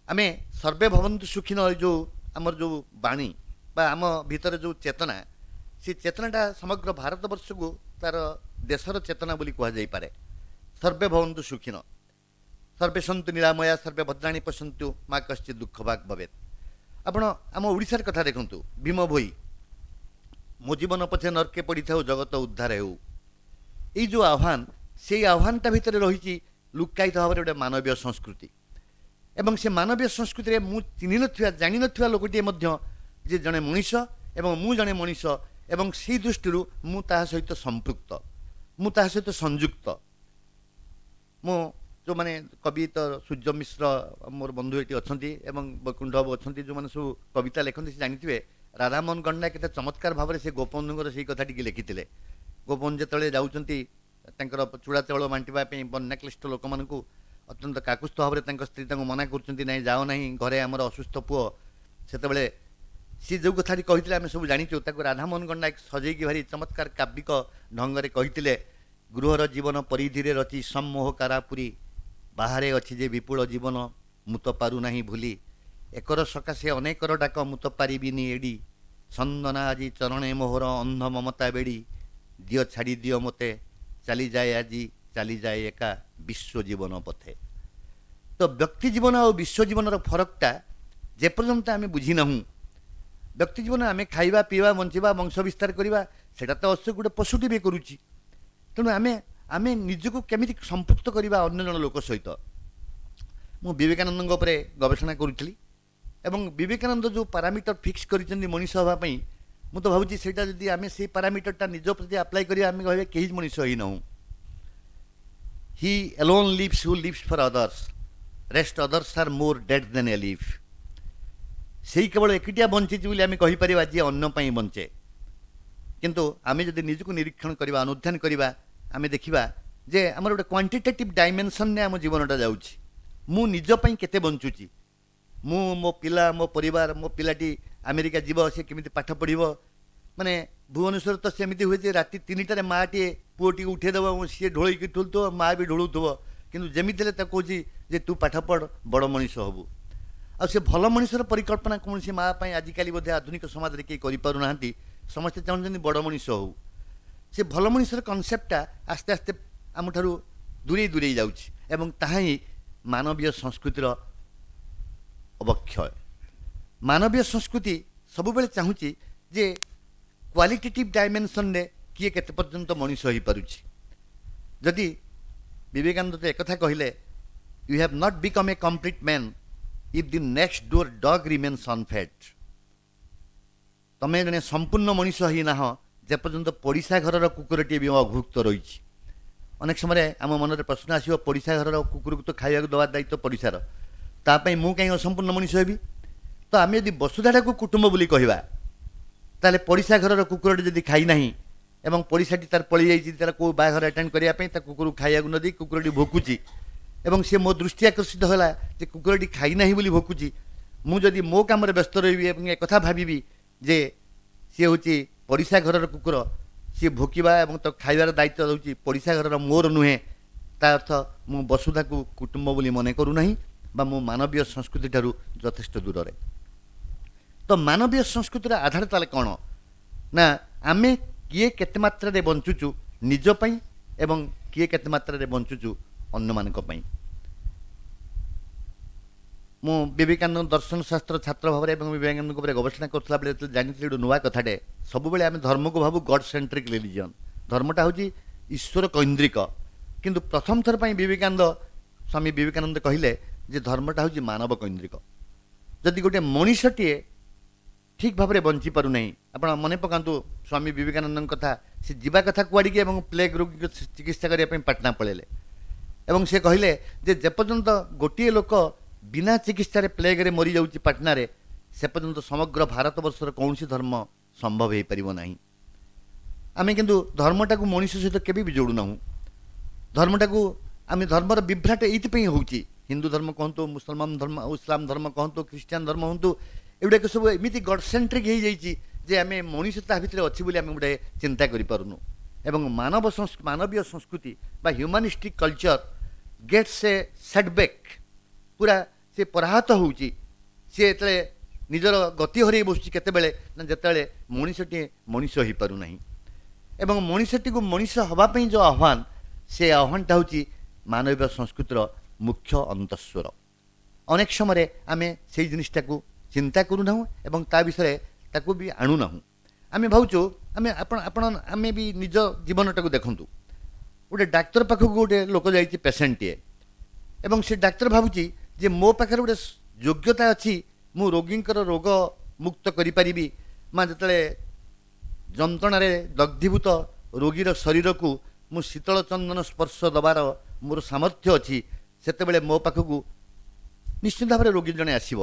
[SPEAKER 2] ଆମେ ସର୍ବେ ଭବନ୍ତୁ ସୁଖିନ, ଯେଉଁ ଆମର ଯେଉଁ ବାଣୀ ବା ଆମ ଭିତରେ ଯେଉଁ ଚେତନା, ସେ ଚେତନାଟା ସମଗ୍ର ଭାରତବର୍ଷକୁ ତାର ଦେଶର ଚେତନା ବୋଲି କୁହାଯାଇପାରେ। ସର୍ବେ ଭବନ୍ତୁ ସୁଖିନ, ସର୍ବେ ସନ୍ତୁ ନିରାମୟା, ସର୍ବେ ଭଦ୍ରାଣୀ ପଶ୍ୟନ୍ତୁ ମା କଶ୍ଚିତ୍ ଦୁଃଖ ଭାଗ ଭବେତ୍। ଆପଣ ଆମ ଓଡ଼ିଶାର କଥା ଦେଖନ୍ତୁ, ଭୀମ ଭୋଇ, ମୋ ଜୀବନ ପଛେ ନର୍କେ ପଡ଼ିଥାଉ ଜଗତ ଉଦ୍ଧାର ହେଉ, ଏଇ ଯେଉଁ ଆହ୍ୱାନ, ସେଇ ଆହ୍ୱାନଟା ଭିତରେ ରହିଛି ଲୁକ୍କାୟିତ ଭାବରେ ଗୋଟେ ମାନବୀୟ ସଂସ୍କୃତି। ଏବଂ ସେ ମାନବୀୟ ସଂସ୍କୃତିରେ ମୁଁ ଚିହ୍ନି ନଥିବା ଜାଣିନଥିବା ଲୋକଟିଏ ମଧ୍ୟ ଯେ ଜଣେ ମଣିଷ ଏବଂ ମୁଁ ଜଣେ ମଣିଷ ଏବଂ ସେଇ ଦୃଷ୍ଟିରୁ ମୁଁ ତାହା ସହିତ ସମ୍ପୃକ୍ତ, ମୁଁ ତାହା ସହିତ ସଂଯୁକ୍ତ। ମୁଁ ଯେଉଁମାନେ କବି ତ ସୂର୍ଯ୍ୟ ମିଶ୍ର ମୋର ବନ୍ଧୁ ଏଠି ଅଛନ୍ତି ଏବଂ ବୈକୁଣ୍ଠ ବାବୁ ଅଛନ୍ତି, ଯେଉଁମାନେ ସବୁ କବିତା ଲେଖନ୍ତି ସେ ଜାଣିଥିବେ ରାଧାମୋହନ ଗଣ୍ଡା କେତେ ଚମତ୍କାର ଭାବରେ ସେ ଗୋପବନ୍ଧୁଙ୍କର ସେଇ କଥାଟିକି ଲେଖିଥିଲେ। ଗୋପବନ୍ଧୁ ଯେତେବେଳେ ଯାଉଛନ୍ତି ତାଙ୍କର ଚୂଡ଼ା ଚାଉଳ ବାଣ୍ଟିବା ପାଇଁ ବନ୍ୟାକ୍ଲିଷ୍ଟ ଲୋକମାନଙ୍କୁ, ଅତ୍ୟନ୍ତ କାକୁସ୍ଥ ଭାବରେ ତାଙ୍କ ସ୍ତ୍ରୀ ତାଙ୍କୁ ମନା କରୁଛନ୍ତି, ନାଇଁ ଯାଅ ନାହିଁ, ଘରେ ଆମର ଅସୁସ୍ଥ ପୁଅ। ସେତେବେଳେ ସିଏ ଯେଉଁ କଥାଟି କହିଥିଲେ ଆମେ ସବୁ ଜାଣିଛୁ, ତାକୁ ରାଧାମୋହନ ଗଣ୍ଡା ସଜେଇକି ଭାରି ଚମତ୍କାର କାବ୍ୟିକ ଢଙ୍ଗରେ କହିଥିଲେ, ଗୃହର ଜୀବନ ପରିଧିରେ ରଚି ସମ୍ମୋହ କାରାପୁରୀ, ବାହାରେ ଅଛି ଯେ ବିପୁଳ ଜୀବନ ମୁଁ ତ ପାରୁନାହିଁ ଭୁଲି, ଏକର ସକାଶେ ଅନେକର ଡାକ ମୁଁ ତ ପାରିବିନି ଏଡ଼ି, ଚନ୍ଦନା ଆଜି ଚରଣେ ମୋହର ଅନ୍ଧ ମମତା ବେଡ଼ି, ଦିଅ ଛାଡ଼ି ଦିଅ ମୋତେ ଚାଲିଯାଏ ଆଜି ଚାଲିଯାଏ ଏକା ବିଶ୍ୱ ଜୀବନ ପଥେ। ତ ବ୍ୟକ୍ତି ଜୀବନ ଆଉ ବିଶ୍ୱ ଜୀବନର ଫରକଟା ଯେପର୍ଯ୍ୟନ୍ତ ଆମେ ବୁଝିନାହୁଁ, ବ୍ୟକ୍ତି ଜୀବନ ଆମେ ଖାଇବା ପିଇବା ବଞ୍ଚିବା ବଂଶ ବିସ୍ତାର କରିବା ସେଇଟା ତ ଅବଶ୍ୟ ଗୋଟେ ପଶୁଟି ବି କରୁଛି। ତେଣୁ ଆମେ ଆମେ ନିଜକୁ କେମିତି ସମ୍ପୃକ୍ତ କରିବା ଅନ୍ୟ ଜଣ ଲୋକ ସହିତ। ମୁଁ ବିବେକାନନ୍ଦଙ୍କ ଉପରେ ଗବେଷଣା କରୁଥିଲି ଏବଂ ବିବେକାନନ୍ଦ ଯେଉଁ ପାରାମିଟର ଫିକ୍ସ କରିଛନ୍ତି ମଣିଷ ହେବା ପାଇଁ, ମୁଁ ତ ଭାବୁଛି ସେଇଟା ଯଦି ଆମେ ସେଇ ପାରାମିଟରଟା ନିଜ ପ୍ରତି ଆପ୍ଲାଏ କରିବା, ଆମେ କହିବା କେହି ମଣିଷ ହେଇନାହୁଁ। He alone lives who lives for others, rest others are more dead than alive. ସେଇ କେବଳ ଏକୁଟିଆ ବଞ୍ଚିଛି ବୋଲି ଆମେ କହିପାରିବା ଯିଏ ଅନ୍ୟ ପାଇଁ ବଞ୍ଚେ। କିନ୍ତୁ ଆମେ ଯଦି ନିଜକୁ ନିରୀକ୍ଷଣ କରିବା, ଅନୁଧ୍ୟାନ କରିବା, ଆମେ ଦେଖିବା ଯେ ଆମର ଗୋଟେ କ୍ୱାଣ୍ଟିଟେଟିଭ୍ ଡାଇମେନସନ୍ରେ ଆମ ଜୀବନଟା ଯାଉଛି। ମୁଁ ନିଜ ପାଇଁ କେତେ ବଞ୍ଚୁଛି, ମୁଁ ମୋ ପିଲା, ମୋ ପରିବାର, ମୋ ପିଲାଟି ଆମେରିକା ଯିବ, ସେ କେମିତି ପାଠ ପଢ଼ିବ। ମାନେ ଭୁବନେଶ୍ୱର ତ ସେମିତି ହୁଏ ଯେ ରାତି 3ଟାରେ ମାଆଟିଏ ପୁଅଟିକୁ ଉଠେଇଦେବ ଏବଂ ସିଏ ଢୋଳେଇକି ଠୁଲୁଥିବ, ମାଆ ବି ଢୋଳୁଥିବ, କିନ୍ତୁ ଯେମିତି ହେଲେ ତାକୁ କହୁଛି ଯେ ତୁ ପାଠ ପଢ଼, ବଡ଼ ମଣିଷ ହେବୁ। ଆଉ ସେ ଭଲ ମଣିଷର ପରିକଳ୍ପନା କୌଣସି ମାଆ ପାଇଁ ଆଜିକାଲି ବୋଧେ ଆଧୁନିକ ସମାଜରେ କେହି କରିପାରୁନାହାନ୍ତି। ସମସ୍ତେ ଚାହୁଁଛନ୍ତି ବଡ଼ ମଣିଷ ହେଉ। ସେ ଭଲ ମଣିଷର କନସେପ୍ଟଟା ଆସ୍ତେ ଆସ୍ତେ ଆମଠାରୁ ଦୂରେଇ ଦୂରେଇ ଯାଉଛି ଏବଂ ତାହା ହିଁ ମାନବୀୟ ସଂସ୍କୃତିର ଅବକ୍ଷୟ। ମାନବୀୟ ସଂସ୍କୃତି ସବୁବେଳେ ଚାହୁଁଛି ଯେ କ୍ୱାଲିଟେଟିଭ୍ ଡାଇମେନସନ୍ରେ କିଏ କେତେ ପର୍ଯ୍ୟନ୍ତ ମଣିଷ ହୋଇପାରୁଛି। ଯଦି ବିବେକାନନ୍ଦ ତ ଏକଥା କହିଲେ, you have not become a complete man if the next door dog remains unfed. ତମେ ଜଣେ ସମ୍ପୂର୍ଣ୍ଣ ମଣିଷ ହେଇନାହ ଯେପର୍ଯ୍ୟନ୍ତ ପଡ଼ିଶା ଘରର କୁକୁରଟିଏ ବି ଅଭୁକ୍ତ ରହିଛି। ଅନେକ ସମୟରେ ଆମ ମନରେ ପ୍ରଶ୍ନ ଆସିବ, ପଡ଼ିଶା ଘରର କୁକୁରକୁ ତ ଖାଇବାକୁ ଦେବା ଦାୟିତ୍ୱ ପଡ଼ିଶାର, ତା ପାଇଁ ମୁଁ କାହିଁ ଅସମ୍ପୂର୍ଣ୍ଣ ମଣିଷ ହେବି? ତ ଆମେ ଯଦି ବସୁଧାଟାକୁ କୁଟୁମ୍ବ ବୋଲି କହିବା, ତାହେଲେ ପଡ଼ିଶା ଘରର କୁକୁରଟି ଯଦି ଖାଇନାହିଁ ଏବଂ ପଡ଼ିଶାଟି ତାର ପଳେଇ ଯାଇଛି ତାର କେଉଁ ବାହାଘର ଆଟେଣ୍ଡ କରିବା ପାଇଁ, ତା କୁକୁରକୁ ଖାଇବାକୁ ନ ଦେଇ କୁକୁରଟି ଭୋକୁଛି ଏବଂ ସେ ମୋ ଦୃଷ୍ଟି ଆକର୍ଷିତ ହେଲା ଯେ କୁକୁରଟି ଖାଇନାହିଁ ବୋଲି ଭୋକୁଛି, ମୁଁ ଯଦି ମୋ କାମରେ ବ୍ୟସ୍ତ ରହିବି ଏବଂ ଏକଥା ଭାବିବି ଯେ ସିଏ ହେଉଛି ପଡ଼ିଶା ଘରର କୁକୁର, ସିଏ ଭୋକିବା ଏବଂ ତାକୁ ଖାଇବାର ଦାୟିତ୍ୱ ହେଉଛି ପଡ଼ିଶା ଘରର, ମୋର ନୁହେଁ, ତା ଅର୍ଥ ମୁଁ ବସୁଧାକୁ କୁଟୁମ୍ବ ବୋଲି ମନେ କରୁନାହିଁ ବା ମୁଁ ମାନବୀୟ ସଂସ୍କୃତି ଠାରୁ ଯଥେଷ୍ଟ ଦୂରରେ। ତ ମାନବୀୟ ସଂସ୍କୃତିର ଆଧାର ତାହେଲେ କ'ଣ ନା ଆମେ କିଏ କେତେ ମାତ୍ରାରେ ବଞ୍ଚୁଛୁ ନିଜ ପାଇଁ ଏବଂ କିଏ କେତେ ମାତ୍ରାରେ ବଞ୍ଚୁଛୁ ଅନ୍ୟମାନଙ୍କ ପାଇଁ। ମୁଁ ବିବେକାନନ୍ଦ ଦର୍ଶନ ଶାସ୍ତ୍ର ଛାତ୍ର ଭାବରେ ଏବଂ ବିବେକାନନ୍ଦଙ୍କ ଉପରେ ଗବେଷଣା କରୁଥିଲା ବେଳେ ଯେତେବେଳେ ଜାଣିଥିଲି ଗୋଟେ ନୂଆ କଥାଟେ, ସବୁବେଳେ ଆମେ ଧର୍ମକୁ ଭାବୁ ଗଡ୍ ସେଣ୍ଟ୍ରିକ୍ ରିଲିଜିଅନ୍, ଧର୍ମଟା ହେଉଛି ଈଶ୍ୱର କୈନ୍ଦ୍ରିକ, କିନ୍ତୁ ପ୍ରଥମ ଥର ପାଇଁ ବିବେକାନନ୍ଦ, ସ୍ୱାମୀ ବିବେକାନନ୍ଦ କହିଲେ ଯେ ଧର୍ମଟା ହେଉଛି ମାନବ କୈନ୍ଦ୍ରିକ। ଯଦି ଗୋଟେ ମଣିଷଟିଏ ଠିକ୍ ଭାବରେ ବଞ୍ଚିପାରୁନାହିଁ, ଆପଣ ମନେ ପକାନ୍ତୁ ସ୍ୱାମୀ ବିବେକାନନ୍ଦଙ୍କ କଥା, ସେ ଯିବା କଥା କୁଆଡ଼ିକି ଏବଂ ପ୍ଲେଗ୍ ରୋଗୀକୁ ଚିକିତ୍ସା କରିବା ପାଇଁ ପାଟନା ପଳେଇଲେ ଏବଂ ସେ କହିଲେ ଯେ ଯେପର୍ଯ୍ୟନ୍ତ ଗୋଟିଏ ଲୋକ ବିନା ଚିକିତ୍ସାରେ ପ୍ଲେଗ୍ରେ ମରିଯାଉଛି ପାଟନାରେ, ସେ ପର୍ଯ୍ୟନ୍ତ ସମଗ୍ର ଭାରତବର୍ଷର କୌଣସି ଧର୍ମ ସମ୍ଭବ ହୋଇପାରିବ ନାହିଁ। ଆମେ କିନ୍ତୁ ଧର୍ମଟାକୁ ମଣିଷ ସହିତ କେବେ ବି ଯୋଡ଼ୁନାହୁଁ। ଧର୍ମଟାକୁ ଆମେ, ଧର୍ମର ବିଭ୍ରାଟ ଏଇଥିପାଇଁ ହେଉଛି, ହିନ୍ଦୁ ଧର୍ମ କୁହନ୍ତୁ, ମୁସଲମାନ ଧର୍ମ, ଇସଲାମ ଧର୍ମ କୁହନ୍ତୁ, ଖ୍ରୀଷ୍ଟିଆନ ଧର୍ମ ହୁଅନ୍ତୁ, ଏଗୁଡ଼ାକ ସବୁ ଏମିତି ଗଡ୍ ସେଣ୍ଟ୍ରିକ୍ ହେଇଯାଇଛି ଯେ ଆମେ ମଣିଷ ତା ଭିତରେ ଅଛି ବୋଲି ଆମେ ଗୋଟେ ଚିନ୍ତା କରିପାରୁନୁ। ଏବଂ ମାନବୀୟ ସଂସ୍କୃତି ବା ହ୍ୟୁମାନିଷ୍ଟିକ୍ କଲଚର ଗେଟ୍ସ ଏ ସେଟବ୍ୟାକ୍, ପୁରା ସେ ପରାହତ ହେଉଛି। ସିଏ ଯେତେବେଳେ ନିଜର ଗତି ହରେଇ ବସୁଛି କେତେବେଳେ ନା ଯେତେବେଳେ ମଣିଷଟିଏ ମଣିଷ ହେଇପାରୁନାହିଁ। ଏବଂ ମଣିଷଟିକୁ ମଣିଷ ହେବା ପାଇଁ ଯେଉଁ ଆହ୍ୱାନ, ସେ ଆହ୍ୱାନଟା ହେଉଛି ମାନବୀୟ ସଂସ୍କୃତିର ମୁଖ୍ୟ ଅନ୍ତଃସ୍ୱର। ଅନେକ ସମୟରେ ଆମେ ସେଇ ଜିନିଷଟାକୁ ଚିନ୍ତା କରୁନାହୁଁ ଏବଂ ତା ବିଷୟରେ ତାକୁ ବି ଆଣୁନାହୁଁ। ଆମେ ଭାବୁଛୁ, ଆମେ ଆପଣ ଆପଣ ଆମେ ବି ନିଜ ଜୀବନଟାକୁ ଦେଖନ୍ତୁ। ଗୋଟେ ଡାକ୍ତର ପାଖକୁ ଗୋଟେ ଲୋକ ଯାଇଛି, ପେସେଣ୍ଟଟିଏ, ଏବଂ ସେ ଡାକ୍ତର ଭାବୁଛି ଯେ ମୋ ପାଖରେ ଗୋଟେ ଯୋଗ୍ୟତା ଅଛି, ମୁଁ ରୋଗୀଙ୍କର ରୋଗ ମୁକ୍ତ କରିପାରିବି। ମା ଯେତେବେଳେ ଯନ୍ତ୍ରଣାରେ ଦଗ୍ଧୀଭୂତ ରୋଗୀର ଶରୀରକୁ ମୁଁ ଶୀତଳ ଚନ୍ଦନ ସ୍ପର୍ଶ ଦେବାର ମୋର ସାମର୍ଥ୍ୟ ଅଛି, ସେତେବେଳେ ମୋ ପାଖକୁ ନିଶ୍ଚିତ ଭାବରେ ରୋଗୀ ଜଣେ ଆସିବ।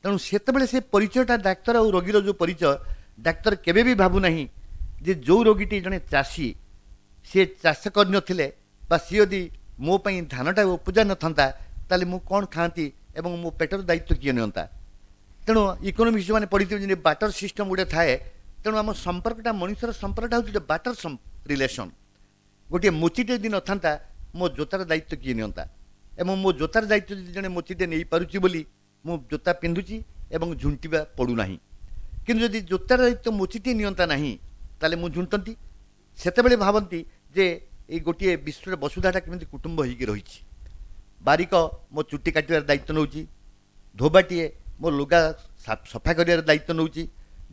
[SPEAKER 2] ତେଣୁ ସେତେବେଳେ ସେ ପରିଚୟଟା ଡାକ୍ତର ଆଉ ରୋଗୀର ଯେଉଁ ପରିଚୟ, ଡାକ୍ତର କେବେ ବି ଭାବୁନାହିଁ ଯେ ଯେଉଁ ରୋଗୀଟି ଜଣେ ଚାଷୀ, ସିଏ ଚାଷ କରିନଥିଲେ ବା ସିଏ ଯଦି ମୋ ପାଇଁ ଧାନଟା ଉପଜା ନଥାନ୍ତା ତାହେଲେ ମୁଁ କ'ଣ ଖାଆନ୍ତି ଏବଂ ମୋ ପେଟର ଦାୟିତ୍ୱ କିଏ ନିଅନ୍ତା। ତେଣୁ ଇକୋନୋମିକ୍ସ ଯେଉଁମାନେ ପଢ଼ିଥିବେ ଯେମିତି ବାଟର ସିଷ୍ଟମ୍ ଗୋଟେ ଥାଏ, ତେଣୁ ଆମ ସମ୍ପର୍କଟା ମଣିଷର ସମ୍ପର୍କଟା ହେଉଛି ଗୋଟେ ବାଟର ରିଲେସନ୍। ଗୋଟିଏ ମୋଚିଟେ ଯଦି ନଥାନ୍ତା ମୋ ଜୋତାର ଦାୟିତ୍ୱ କିଏ ନିଅନ୍ତା, ଏବଂ ମୋ ଜୋତାର ଦାୟିତ୍ୱ ଯଦି ଜଣେ ମୋଚିଟେ ନେଇପାରୁଛି ବୋଲି ମୁଁ ଜୋତା ପିନ୍ଧୁଛି ଏବଂ ଝୁଣ୍ଟିବା ପଡ଼ୁନାହିଁ। କିନ୍ତୁ ଯଦି ଜୋତାର ଦାୟିତ୍ୱ ମୋଚିଟିଏ ନିଅନ୍ତା ନାହିଁ ତାହେଲେ ମୁଁ ଝୁଣ୍ଟନ୍ତି। ସେତେବେଳେ ଭାବନ୍ତି ଯେ ଏଇ ଗୋଟିଏ ବିଶ୍ୱର ବସୁଧାଟା କେମିତି କୁଟୁମ୍ବ ହେଇକି ରହିଛି। ବାରିକ ମୋ ଚୁଟି କାଟିବାର ଦାୟିତ୍ୱ ନେଉଛି, ଧୋବାଟିଏ ମୋ ଲୁଗା ସଫା କରିବାର ଦାୟିତ୍ୱ ନେଉଛି,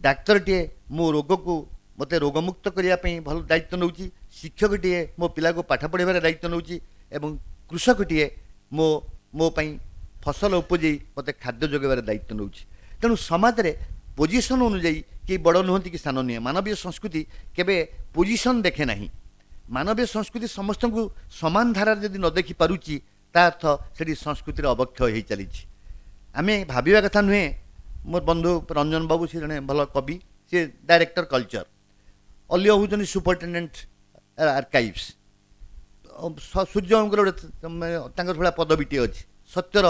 [SPEAKER 2] ଡାକ୍ତରଟିଏ ମୋ ରୋଗକୁ ମୋତେ ରୋଗମୁକ୍ତ କରିବା ପାଇଁ ଭଲ ଦାୟିତ୍ୱ ନେଉଛି, ଶିକ୍ଷକଟିଏ ମୋ ପିଲାକୁ ପାଠ ପଢ଼ାଇବାର ଦାୟିତ୍ୱ ନେଉଛି, ଏବଂ କୃଷକଟିଏ ମୋ ପାଇଁ ଫସଲ ଉପଜେଇ ମୋତେ ଖାଦ୍ୟ ଯୋଗାଇବାର ଦାୟିତ୍ୱ ନେଉଛି। ତେଣୁ ସମାଜରେ ପୋଜିସନ୍ ଅନୁଯାୟୀ କେହି ବଡ଼ ନୁହନ୍ତି କି ସାନ ନୁହେଁ। ମାନବୀୟ ସଂସ୍କୃତି କେବେ ପୋଜିସନ୍ ଦେଖେ ନାହିଁ। ମାନବୀୟ ସଂସ୍କୃତି ସମସ୍ତଙ୍କୁ ସମାନ ଧାରାରେ ଯଦି ନ ଦେଖିପାରୁଛି ତା ଅର୍ଥ ସେଠି ସଂସ୍କୃତିର ଅବକ୍ଷୟ ହେଇ ଚାଲିଛି। ଆମେ ଭାବିବା କଥା ନୁହେଁ। ମୋର ବନ୍ଧୁ ରଞ୍ଜନ ବାବୁ, ସେ ଜଣେ ଭଲ କବି, ସେ ଡାଇରେକ୍ଟର କଲଚର, ଅଲିଅ ହେଉଛନ୍ତି ସୁପରିଟେଣ୍ଡେଣ୍ଟ ଆର୍କାଇଭ୍ସ, ସୂର୍ଯ୍ୟଙ୍କର ଗୋଟେ ତାଙ୍କର ଭଳିଆ ପଦବୀଟିଏ ଅଛି, ସତ୍ୟର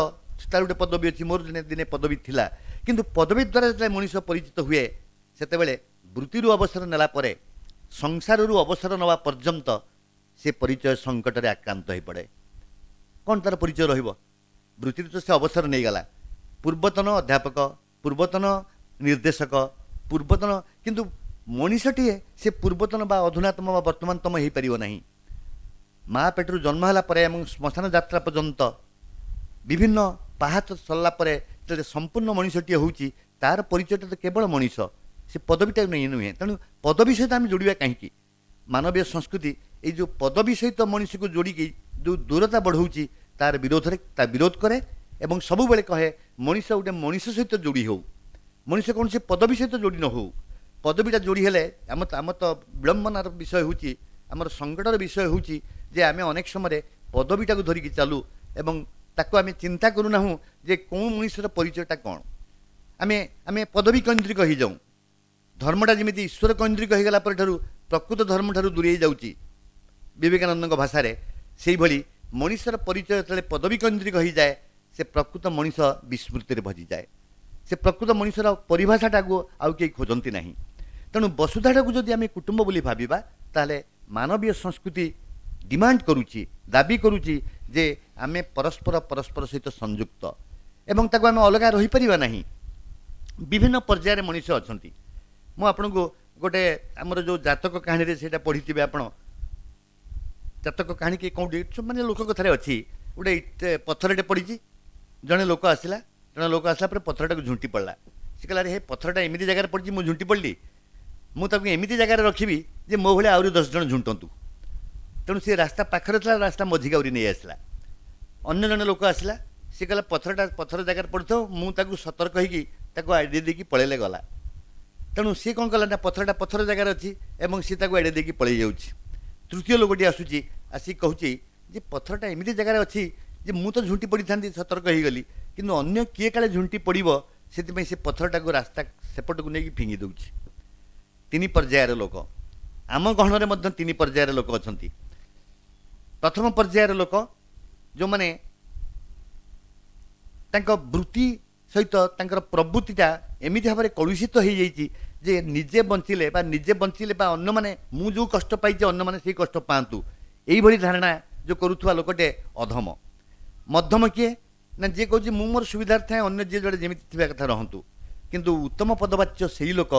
[SPEAKER 2] ତାର ଗୋଟେ ପଦବୀ ଅଛି, ମୋର ଦିନେ ଦିନେ ପଦବୀ ଥିଲା। କିନ୍ତୁ ପଦବୀ ଦ୍ୱାରା ଯେତେବେଳେ ମଣିଷ ପରିଚିତ ହୁଏ ସେତେବେଳେ ବୃତ୍ତିରୁ ଅବସର ନେଲା ପରେ ସଂସାରରୁ ଅବସର ନେବା ପର୍ଯ୍ୟନ୍ତ ସେ ପରିଚୟ ସଙ୍କଟରେ ଆକ୍ରାନ୍ତ ହୋଇପଡ଼େ। କ'ଣ ତାର ପରିଚୟ ରହିବ? ବୃତ୍ତିରୁ ତ ସେ ଅବସର ନେଇଗଲା, ପୂର୍ବତନ ଅଧ୍ୟାପକ, ପୂର୍ବତନ ନିର୍ଦ୍ଦେଶକ, ପୂର୍ବତନ, କିନ୍ତୁ ମଣିଷଟିଏ ସେ ପୂର୍ବତନ ବା ଅଧୁନାତମ ବା ବର୍ତ୍ତମାନତମ ହେଇପାରିବ ନାହିଁ। ମା ପେଟରୁ ଜନ୍ମ ହେଲା ପରେ ଏବଂ ଶ୍ମଶାନ ଯାତ୍ରା ପର୍ଯ୍ୟନ୍ତ ବିଭିନ୍ନ ପାହାଚ ସରିଲା ପରେ ଯେତେବେଳେ ସମ୍ପୂର୍ଣ୍ଣ ମଣିଷଟିଏ ହେଉଛି ତାର ପରିଚୟଟା ତ କେବଳ ମଣିଷ, ସେ ପଦବୀଟା ନୁହେଁ। ତେଣୁ ପଦବୀ ସହିତ ଆମେ ଯୋଡ଼ିବା କାହିଁକି? ମାନବୀୟ ସଂସ୍କୃତି ଏଇ ଯେଉଁ ପଦବୀ ସହିତ ମଣିଷକୁ ଯୋଡ଼ିକି ଯେଉଁ ଦୂରତା ବଢ଼ଉଛି ତାର ବିରୋଧରେ ତା ବିରୋଧ କରେ ଏବଂ ସବୁବେଳେ କହେ ମଣିଷ ଗୋଟେ ମଣିଷ ସହିତ ଯୋଡ଼ି ହେଉ, ମଣିଷ କୌଣସି ପଦବୀ ସହିତ ଯୋଡ଼ି ନ ହେଉ। ପଦବୀଟା ଯୋଡ଼ି ହେଲେ ଆମ ତ ବିଳମ୍ବନାର ବିଷୟ ହେଉଛି, ଆମର ସଙ୍କଟର ବିଷୟ ହେଉଛି ଯେ ଆମେ ଅନେକ ସମୟରେ ପଦବୀଟାକୁ ଧରିକି ଚାଲୁ ଏବଂ ତାକୁ ଆମେ ଚିନ୍ତା କରୁନାହୁଁ ଯେ କେଉଁ ମଣିଷର ପରିଚୟଟା କ'ଣ। ଆମେ ଆମେ ପଦବୀ କୈନ୍ଦ୍ରିକ ହେଇଯାଉଁ। ଧର୍ମଟା ଯେମିତି ଈଶ୍ୱର କୈନ୍ଦ୍ରିକ ହେଇଗଲା ପରଠାରୁ ପ୍ରକୃତ ଧର୍ମଠାରୁ ଦୂରେଇ ଯାଉଛି ବିବେକାନନ୍ଦଙ୍କ ଭାଷାରେ, ସେଇଭଳି ମଣିଷର ପରିଚୟ ଯେତେବେଳେ ପଦବୀ କୈନ୍ଦ୍ରିକ ହେଇଯାଏ ସେ ପ୍ରକୃତ ମଣିଷ ବିସ୍ମୃତିରେ ଭଜିଯାଏ। ସେ ପ୍ରକୃତ ମଣିଷର ପରିଭାଷାଟାକୁ ଆଉ କେହି ଖୋଜନ୍ତି ନାହିଁ। ତେଣୁ ବସୁଧାଟାକୁ ଯଦି ଆମେ କୁଟୁମ୍ବ ବୋଲି ଭାବିବା ତାହେଲେ ମାନବୀୟ ସଂସ୍କୃତି ଡିମାଣ୍ଡ କରୁଛି, ଦାବି କରୁଛି ଯେ ଆମେ ପରସ୍ପର ପରସ୍ପର ସହିତ ସଂଯୁକ୍ତ ଏବଂ ତାକୁ ଆମେ ଅଲଗା ରହିପାରିବା ନାହିଁ। ବିଭିନ୍ନ ପର୍ଯ୍ୟାୟରେ ମଣିଷ ଅଛନ୍ତି। ମୁଁ ଆପଣଙ୍କୁ ଗୋଟେ ଆମର ଯେଉଁ ଜାତକ କାହାଣୀରେ ସେଇଟା ପଢ଼ିଥିବେ ଆପଣ, ଜାତକ କାହାଣୀ କି କେଉଁଠି ମାନେ ଲୋକ କଥାରେ ଅଛି, ଗୋଟେ ପଥରଟେ ପଡ଼ିଛି, ଜଣେ ଲୋକ ଆସିଲା, ଜଣେ ଲୋକ ଆସିଲା ପରେ ପଥରଟାକୁ ଝୁଣ୍ଟି ପଡ଼ିଲା। ସେ କହିଲା ଆରେ ହେ ପଥରଟା ଏମିତି ଜାଗାରେ ପଡ଼ିଛି ମୁଁ ଝୁଣ୍ଟି ପଡ଼ିଲି, ମୁଁ ତାକୁ ଏମିତି ଜାଗାରେ ରଖିବି ଯେ ମୋ ଭଳିଆ ଆହୁରି 10 ଜଣ ଝୁଣ୍ଟନ୍ତୁ। ତେଣୁ ସେ ରାସ୍ତା ପାଖରେ ଥିଲା, ରାସ୍ତା ମଝିକି ଆହୁରି ନେଇ ଆସିଲା। ଅନ୍ୟ ଜଣେ ଲୋକ ଆସିଲା, ସେ କହିଲା ପଥରଟା ପଥର ଜାଗାରେ ପଡ଼ିଥାଉ, ମୁଁ ତାକୁ ସତର୍କ ହେଇକି ତାକୁ ଆଇଡ଼ିଆ ଦେଇକି ପଳେଇଲେ ଗଲା। ତେଣୁ ସିଏ କ'ଣ କଲା ନା ପଥରଟା ପଥର ଜାଗାରେ ଅଛି ଏବଂ ସିଏ ତାକୁ ଆଇଡ଼ିଆ ଦେଇକି ପଳେଇ ଯାଉଛି। ତୃତୀୟ ଲୋକଟି ଆସୁଛି, ଆସିକି କହୁଛି ଯେ ପଥରଟା ଏମିତି ଜାଗାରେ ଅଛି ଯେ ମୁଁ ତ ଝୁଣ୍ଟି ପଡ଼ିଥାନ୍ତି ସତର୍କ ହେଇଗଲି, କିନ୍ତୁ ଅନ୍ୟ କିଏ କାଳେ ଝୁଣ୍ଟି ପଡ଼ିବ ସେଥିପାଇଁ ସେ ପଥରଟାକୁ ରାସ୍ତା ସେପଟକୁ ନେଇକି ଫିଙ୍ଗି ଦେଉଛି। ତିନି ପର୍ଯ୍ୟାୟର ଲୋକ ଆମ ଗହଣରେ ମଧ୍ୟ ତିନି ପର୍ଯ୍ୟାୟର ଲୋକ ଅଛନ୍ତି। ପ୍ରଥମ ପର୍ଯ୍ୟାୟର ଲୋକ ଯେଉଁମାନେ ତାଙ୍କ ବୃତ୍ତି ସହିତ ତାଙ୍କର ପ୍ରବୃତ୍ତିଟା ଏମିତି ଭାବରେ କଳୁଷିତ ହେଇଯାଇଛି ଯେ ନିଜେ ବଞ୍ଚିଲେ ବା ଅନ୍ୟମାନେ ମୁଁ ଯେଉଁ କଷ୍ଟ ପାଇଛି ଅନ୍ୟମାନେ ସେଇ କଷ୍ଟ ପାଆନ୍ତୁ, ଏଇଭଳି ଧାରଣା ଯେଉଁ କରୁଥିବା ଲୋକଟେ ଅଧମ। ମଧ୍ୟମ କିଏ ନା ଯିଏ କହୁଛି ମୁଁ ମୋର ସୁବିଧାରେ ଥାଏ, ଅନ୍ୟ ଯିଏ ଯୁଆଡ଼େ ଯେମିତି ଥିବା କଥା ରହନ୍ତୁ। କିନ୍ତୁ ଉତ୍ତମ ପଦବାଚ୍ୟ ସେଇ ଲୋକ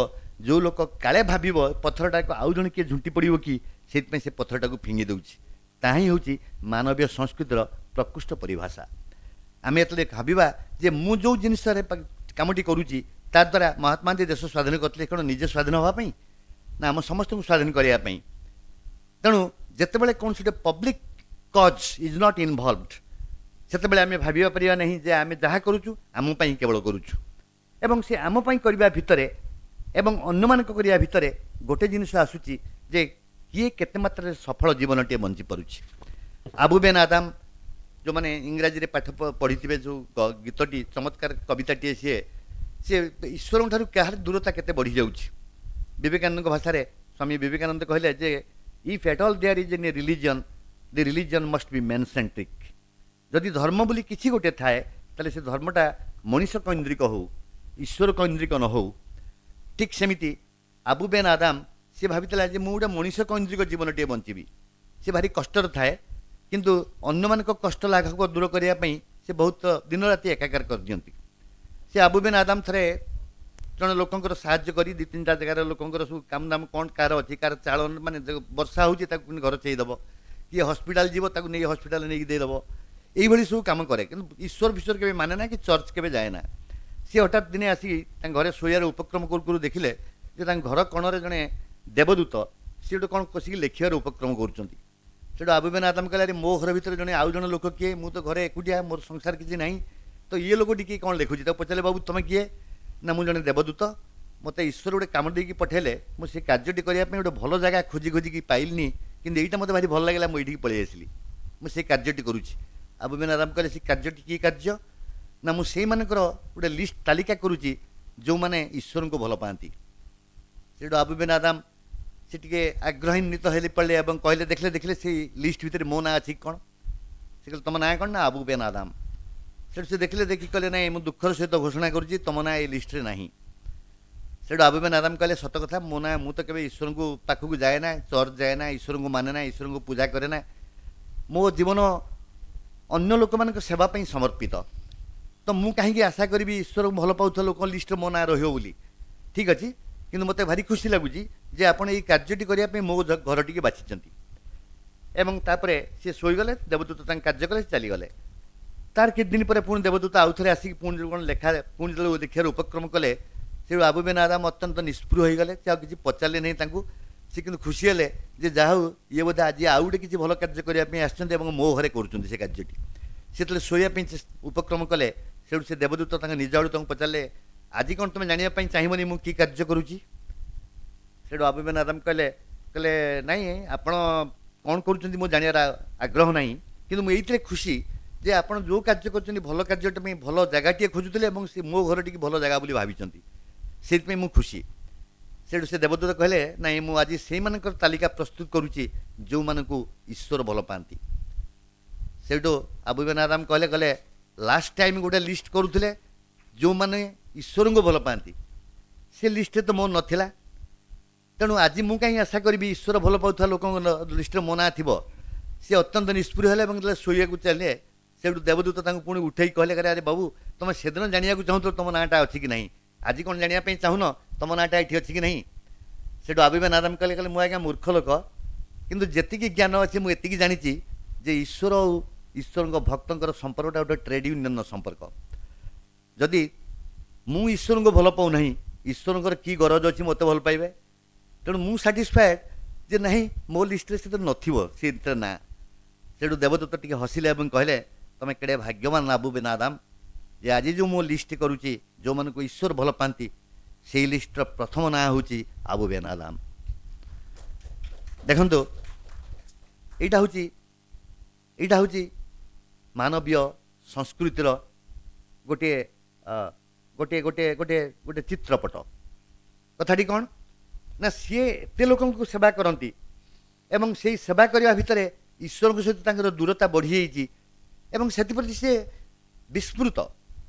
[SPEAKER 2] ଯେଉଁ ଲୋକ କାଳେ ଭାବିବ ପଥରଟାକୁ ଆଉ ଜଣେ କିଏ ଝୁଣ୍ଟି ପଡ଼ିବ କି, ସେଇଥିପାଇଁ ସେ ପଥରଟାକୁ ଫିଙ୍ଗି ଦେଉଛି। ତାହା ହିଁ ହେଉଛି ମାନବୀୟ ସଂସ୍କୃତିର ପ୍ରକୃଷ୍ଟ ପରିଭାଷା। ଆମେ ଯେତେବେଳେ ଭାବିବା ଯେ ମୁଁ ଯେଉଁ ଜିନିଷରେ କାମଟି କରୁଛି ତା ଦ୍ୱାରା ମହାତ୍ମା ଗାନ୍ଧୀ ଦେଶ ସ୍ୱାଧୀନ କରିଥିଲେ କ'ଣ ନିଜେ ସ୍ୱାଧୀନ ହେବା ପାଇଁ ନା ଆମ ସମସ୍ତଙ୍କୁ ସ୍ୱାଧୀନ କରିବା ପାଇଁ? ତେଣୁ ଯେତେବେଳେ କୌଣସି ଗୋଟେ public cause is not involved, ସେତେବେଳେ ଆମେ ଭାବିବା ପାରିବା ନାହିଁ ଯେ ଆମେ ଯାହା କରୁଛୁ ଆମ ପାଇଁ କେବଳ କରୁଛୁ। ଏବଂ ସେ ଆମ ପାଇଁ କରିବା ଭିତରେ ଏବଂ ଅନ୍ୟମାନଙ୍କ କରିବା ଭିତରେ ଗୋଟେ ଜିନିଷ ଆସୁଛି ଯେ କିଏ କେତେ ମାତ୍ରାରେ ସଫଳ ଜୀବନଟିଏ ବଞ୍ଚିପାରୁଛି। ଆବୁ ବେନ୍ ଆଦାମ, ଯେଉଁମାନେ ଇଂରାଜୀରେ ପାଠ ପଢ଼ିଥିବେ, ଯେଉଁ ଗୀତଟି ଚମତ୍କାର କବିତାଟିଏ, ସିଏ ସିଏ ଈଶ୍ୱରଙ୍କ ଠାରୁ କାହାର ଦୂରତା କେତେ ବଢ଼ିଯାଉଛି। ବିବେକାନନ୍ଦଙ୍କ ଭାଷାରେ ସ୍ୱାମୀ ବିବେକାନନ୍ଦ କହିଲେ ଯେ if at all there is any religion, the religion must be man centric. ଯଦି ଧର୍ମ ବୋଲି କିଛି ଗୋଟେ ଥାଏ ତାହେଲେ ସେ ଧର୍ମଟା ମଣିଷ କୈନ୍ଦ୍ରିକ ହେଉ, ଈଶ୍ୱର କୈନ୍ଦ୍ରିକ ନ ହେଉ। ଠିକ୍ ସେମିତି ଆବୁ ବେନ୍ ଆଦାମ ସିଏ ଭାବିଥିଲା ଯେ ମୁଁ ଗୋଟେ ମଣିଷ କୈନ୍ଦ୍ରିକ ଜୀବନଟିଏ ବଞ୍ଚିବି। ସେ ଭାରି କଷ୍ଟରେ ଥାଏ, କିନ୍ତୁ ଅନ୍ୟମାନଙ୍କ କଷ୍ଟ ଲାଘବ ଦୂର କରିବା ପାଇଁ ସେ ବହୁତ ଦିନ ରାତି ଏକାକାର କରିଦିଅନ୍ତି। ସେ ଆବୁ ବେନ୍ ଆଦାମ ଥରେ ଜଣେ ଲୋକଙ୍କର ସାହାଯ୍ୟ କରି ଦୁଇ ତିନିଟା ଜାଗାର ଲୋକଙ୍କର ସବୁ କାମ ଦାମ କ'ଣ କାହାର ଅଛି, କାହାର ଚାଳ ମାନେ ବର୍ଷା ହେଉଛି ତାକୁ ଘର ଚେଇଦେବ, କିଏ ହସ୍ପିଟାଲ ଯିବ ତାକୁ ନେଇ ହସ୍ପିଟାଲ ନେଇକି ଦେଇଦେବ, ଏଇଭଳି ସବୁ କାମ କରେ। କିନ୍ତୁ ଈଶ୍ୱର ଫିଶ୍ୱର କେବେ ମାନେ ନା କି ଚର୍ଚ୍ଚ କେବେ ଯାଏ ନା। ସିଏ ହଠାତ୍ ଦିନେ ଆସିକି ତାଙ୍କ ଘରେ ଶୋଇବାର ଉପକ୍ରମ କରୁ କରୁ ଦେଖିଲେ ଯେ ତାଙ୍କ ଘର କୋଣରେ ଜଣେ ଦେବଦୂତ ସିଏ ଗୋଟେ କ'ଣ କଷିକି ଲେଖିବାର ଉପକ୍ରମ କରୁଛନ୍ତି। ସେଠୁ ଆବୁ ବେନ୍ ଆଦାମ କହିଲେ, ଆରେ ମୋ ଘର ଭିତରେ ଜଣେ ଆଉ ଜଣେ ଲୋକ କିଏ, ମୁଁ ତ ଘରେ ଏକୁଟିଆ, ମୋର ସଂସାର କିଛି ନାହିଁ, ତ ଇଏ ଲୋକଟି କିଏ କ'ଣ ଲେଖୁଛି? ତାକୁ ପଚାରିଲେ, ବାବୁ ତୁମେ କିଏ? ନା ମୁଁ ଜଣେ ଦେବଦୂତ, ମୋତେ ଈଶ୍ୱର ଗୋଟେ କାମ ଦେଇକି ପଠେଇଲେ, ମୁଁ ସେ କାର୍ଯ୍ୟଟି କରିବା ପାଇଁ ଗୋଟେ ଭଲ ଜାଗା ଖୋଜି ଖୋଜିକି ପାଇଲିନି, କିନ୍ତୁ ଏଇଟା ମୋତେ ଭାରି ଭଲ ଲାଗିଲା, ମୁଁ ଏଇଠିକି ପଳେଇ ଆସିଲି, ମୁଁ ସେ କାର୍ଯ୍ୟଟି କରୁଛି। ଆବୁ ବେନ୍ ଆଦାମ କହିଲେ, ସେ କାର୍ଯ୍ୟଟି କି କାର୍ଯ୍ୟ? ନା ମୁଁ ସେଇମାନଙ୍କର ଗୋଟେ ଲିଷ୍ଟ ତାଲିକା କରୁଛି ଯେଉଁମାନେ ଈଶ୍ୱରଙ୍କୁ ଭଲ ପାଆନ୍ତି। ସେଇଠୁ ଆବୁ ବେନ୍ ଆଦାମ ସେ ଟିକେ ଆଗ୍ରହାନ୍ୱିତ ହେଲି ପଡ଼ିଲେ ଏବଂ କହିଲେ, ଦେଖିଲେ ଦେଖିଲେ ସେଇ ଲିଷ୍ଟ ଭିତରେ ମୋ ନାଁ ଅଛି କ'ଣ? ସେ କହିଲେ, ତୁମ ନାଁ କ'ଣ? ନା ଆବୁ ବେନ୍ ଆଦାମ। ସେଠୁ ସେ ଦେଖିଲେ, ଦେଖି କହିଲେ, ନାଇଁ ମୁଁ ଦୁଃଖର ସହିତ ଘୋଷଣା କରୁଛି ତୁମ ନାଁ ଏଇ ଲିଷ୍ଟରେ ନାହିଁ। ସେଠୁ ଆବୁ ବେନ୍ ଆଦାମ କହିଲେ, ସତ କଥା, ମୋ ନାଁ, ମୁଁ ତ କେବେ ଈଶ୍ୱରଙ୍କୁ ପାଖକୁ ଯାଏ ନା, ଚର୍ଚ୍ଚ ଯାଏ ନା, ଈଶ୍ୱରଙ୍କୁ ମାନେ ନା, ଈଶ୍ୱରଙ୍କୁ ପୂଜା କରେ ନା, ମୋ ଜୀବନ ଅନ୍ୟ ଲୋକମାନଙ୍କ ସେବା ପାଇଁ ସମର୍ପିତ, ତ ମୁଁ କାହିଁକି ଆଶା କରିବି ଈଶ୍ୱରଙ୍କୁ ଭଲ ପାଉଥିବା ଲୋକଙ୍କ ଲିଷ୍ଟରେ ମୋ ନାଁ ରହିବ ବୋଲି? ଠିକ୍ ଅଛି, କିନ୍ତୁ ମୋତେ ଭାରି ଖୁସି ଲାଗୁଛି ଯେ ଆପଣ ଏଇ କାର୍ଯ୍ୟଟି କରିବା ପାଇଁ ମୋ ଘରଟିକି ବାଛିଛନ୍ତି। ଏବଂ ତାପରେ ସିଏ ଶୋଇଗଲେ, ଦେବଦୂତ ତାଙ୍କ କାର୍ଯ୍ୟ କଲେ, ସେ ଚାଲିଗଲେ। ତାର କିଛି ଦିନ ପରେ ପୁଣି ଦେବଦୂତ ଆଉ ଥରେ ଆସିକି ପୁଣି କ'ଣ ଲେଖା ପୁଣି ଯେତେବେଳେ ଦେଖିବାର ଉପକ୍ରମ କଲେ, ସେଠୁ ଆବୁ ବେନ୍ ଆଦାମ ଅତ୍ୟନ୍ତ ନିସ୍ପୃହ ହୋଇଗଲେ। ସେ ଆଉ କିଛି ପଚାରିଲେ ନାହିଁ ତାଙ୍କୁ। ସେ କିନ୍ତୁ ଖୁସି ହେଲେ ଯେ ଯାହା ହଉ ଇଏ ବୋଧେ ଆଜି ଆଉ ଗୋଟେ କିଛି ଭଲ କାର୍ଯ୍ୟ କରିବା ପାଇଁ ଆସିଛନ୍ତି ଏବଂ ମୋ ଘରେ କରୁଛନ୍ତି ସେ କାର୍ଯ୍ୟଟି। ସେ ଯେତେବେଳେ ଶୋଇବା ପାଇଁ ଉପକ୍ରମ କଲେ, ସେଠୁ ସେ ଦେବଦୂତ ତାଙ୍କ ନିଜ ଆଡ଼ୁ ତାଙ୍କୁ ପଚାରିଲେ, ଆଜି କ'ଣ ତୁମେ ଜାଣିବା ପାଇଁ ଚାହିଁବନି ମୁଁ କି କାର୍ଯ୍ୟ କରୁଛି? ସେଠୁ ଆବୁ ବେନ୍ ଆଦାମ କହିଲେ କହିଲେ ନାଇଁ, ଆପଣ କ'ଣ କରୁଛନ୍ତି ମୁଁ ଜାଣିବାର ଆଗ୍ରହ ନାହିଁ, କିନ୍ତୁ ମୁଁ ଏଇଥିରେ ଖୁସି ଯେ ଆପଣ ଯେଉଁ କାର୍ଯ୍ୟ କରୁଛନ୍ତି ଭଲ କାର୍ଯ୍ୟଟା ପାଇଁ ଭଲ ଜାଗାଟିଏ ଖୋଜୁଥିଲେ ଏବଂ ସେ ମୋ ଘରଟିକି ଭଲ ଜାଗା ବୋଲି ଭାବିଛନ୍ତି, ସେଇଥିପାଇଁ ମୁଁ ଖୁସି। ସେଠୁ ସେ ଦେବଦୂତ କହିଲେ, ନାଇଁ ମୁଁ ଆଜି ସେଇମାନଙ୍କର ତାଲିକା ପ୍ରସ୍ତୁତ କରୁଛି ଯେଉଁମାନଙ୍କୁ ଈଶ୍ୱର ଭଲ ପାଆନ୍ତି। ସେଇଠୁ ଆବୁ ବେନ୍ ଆଦାମ କହିଲେ କହିଲେ ଲାଷ୍ଟ ଟାଇମ୍ ଗୋଟେ ଲିଷ୍ଟ କରୁଥିଲେ ଯେଉଁମାନେ ଈଶ୍ୱରଙ୍କୁ ଭଲ ପାଆନ୍ତି, ସେ ଲିଷ୍ଟରେ ତ ମୋ ନଥିଲା, ତେଣୁ ଆଜି ମୁଁ କାହିଁ ଆଶା କରିବି ଈଶ୍ୱର ଭଲ ପାଉଥିବା ଲୋକଙ୍କ ଲିଷ୍ଟରେ ମୋ ନାଁ ଥିବ। ସେ ଅତ୍ୟନ୍ତ ନିସ୍ପୃହ ହେଲେ ଏବଂ ଯେତେବେଳେ ଶୋଇବାକୁ ଚାଲିଲେ, ସେଇଠୁ ଦେବଦୂତ ତାଙ୍କୁ ପୁଣି ଉଠେଇ କହିଲେ, ଆରେ ବାବୁ ତୁମେ ସେଦିନ ଜାଣିବାକୁ ଚାହୁଁଥିଲ ତୁମ ନାଁଟା ଅଛି କି ନାହିଁ, ଆଜି କ'ଣ ଜାଣିବା ପାଇଁ ଚାହୁଁନ ତୁମ ନାଁଟା ଏଠି ଅଛି କି ନାହିଁ? ସେଇଠୁ ଆବୁ ବେନ୍ ଆଦାମ କହିଲେ, କହିଲେ ମୁଁ ଆଜ୍ଞା ମୂର୍ଖ ଲୋକ, କିନ୍ତୁ ଯେତିକି ଜ୍ଞାନ ଅଛି ମୁଁ ଏତିକି ଜାଣିଛି ଯେ ଈଶ୍ୱର ଆଉ ଈଶ୍ୱରଙ୍କ ଭକ୍ତଙ୍କର ସମ୍ପର୍କଟା ଗୋଟେ ଟ୍ରେଡ୍ ୟୁନିୟନର ସମ୍ପର୍କ। ଯଦି ମୁଁ ଈଶ୍ୱରଙ୍କୁ ଭଲ ପାଉନାହିଁ, ଈଶ୍ୱରଙ୍କର କି ଗରଜ ଅଛି ମୋତେ ଭଲ ପାଇବେ? ତେଣୁ ମୁଁ ସାଟିସ୍ଫାଏଡ଼ ଯେ ନାହିଁ ମୋ ଲିଷ୍ଟରେ ସେ ତ ନଥିବ ସେ ନାଁ। ସେଇଠୁ ଦେବଦୂତ ଟିକେ ହସିଲେ ଏବଂ କହିଲେ, ତୁମେ କେଡ଼େ ଭାଗ୍ୟବାନ ଆବୁ ବେନ୍ ଆଦାମ ଯେ ଆଜି ଯେଉଁ ମୁଁ ଲିଷ୍ଟ କରୁଛି ଯେଉଁମାନଙ୍କୁ ଈଶ୍ୱର ଭଲ ପାଆନ୍ତି, ସେଇ ଲିଷ୍ଟର ପ୍ରଥମ ନାଁ ହେଉଛି ଆବୁ ବେନ୍ ଆଦାମ। ଦେଖନ୍ତୁ, ଏଇଟା ହେଉଛି ମାନବୀୟ ସଂସ୍କୃତିର ଗୋଟିଏ ଗୋଟିଏ ଗୋଟିଏ ଗୋଟିଏ ଗୋଟେ ଚିତ୍ରପଟ। କଥାଟି କ'ଣ ନା, ସିଏ ଏତେ ଲୋକଙ୍କୁ ସେବା କରନ୍ତି ଏବଂ ସେଇ ସେବା କରିବା ଭିତରେ ଈଶ୍ୱରଙ୍କ ସହିତ ତାଙ୍କର ଦୂରତା ବଢ଼ିଯାଇଛି ଏବଂ ସେଥିପ୍ରତି ସିଏ ବିସ୍ମୃତ।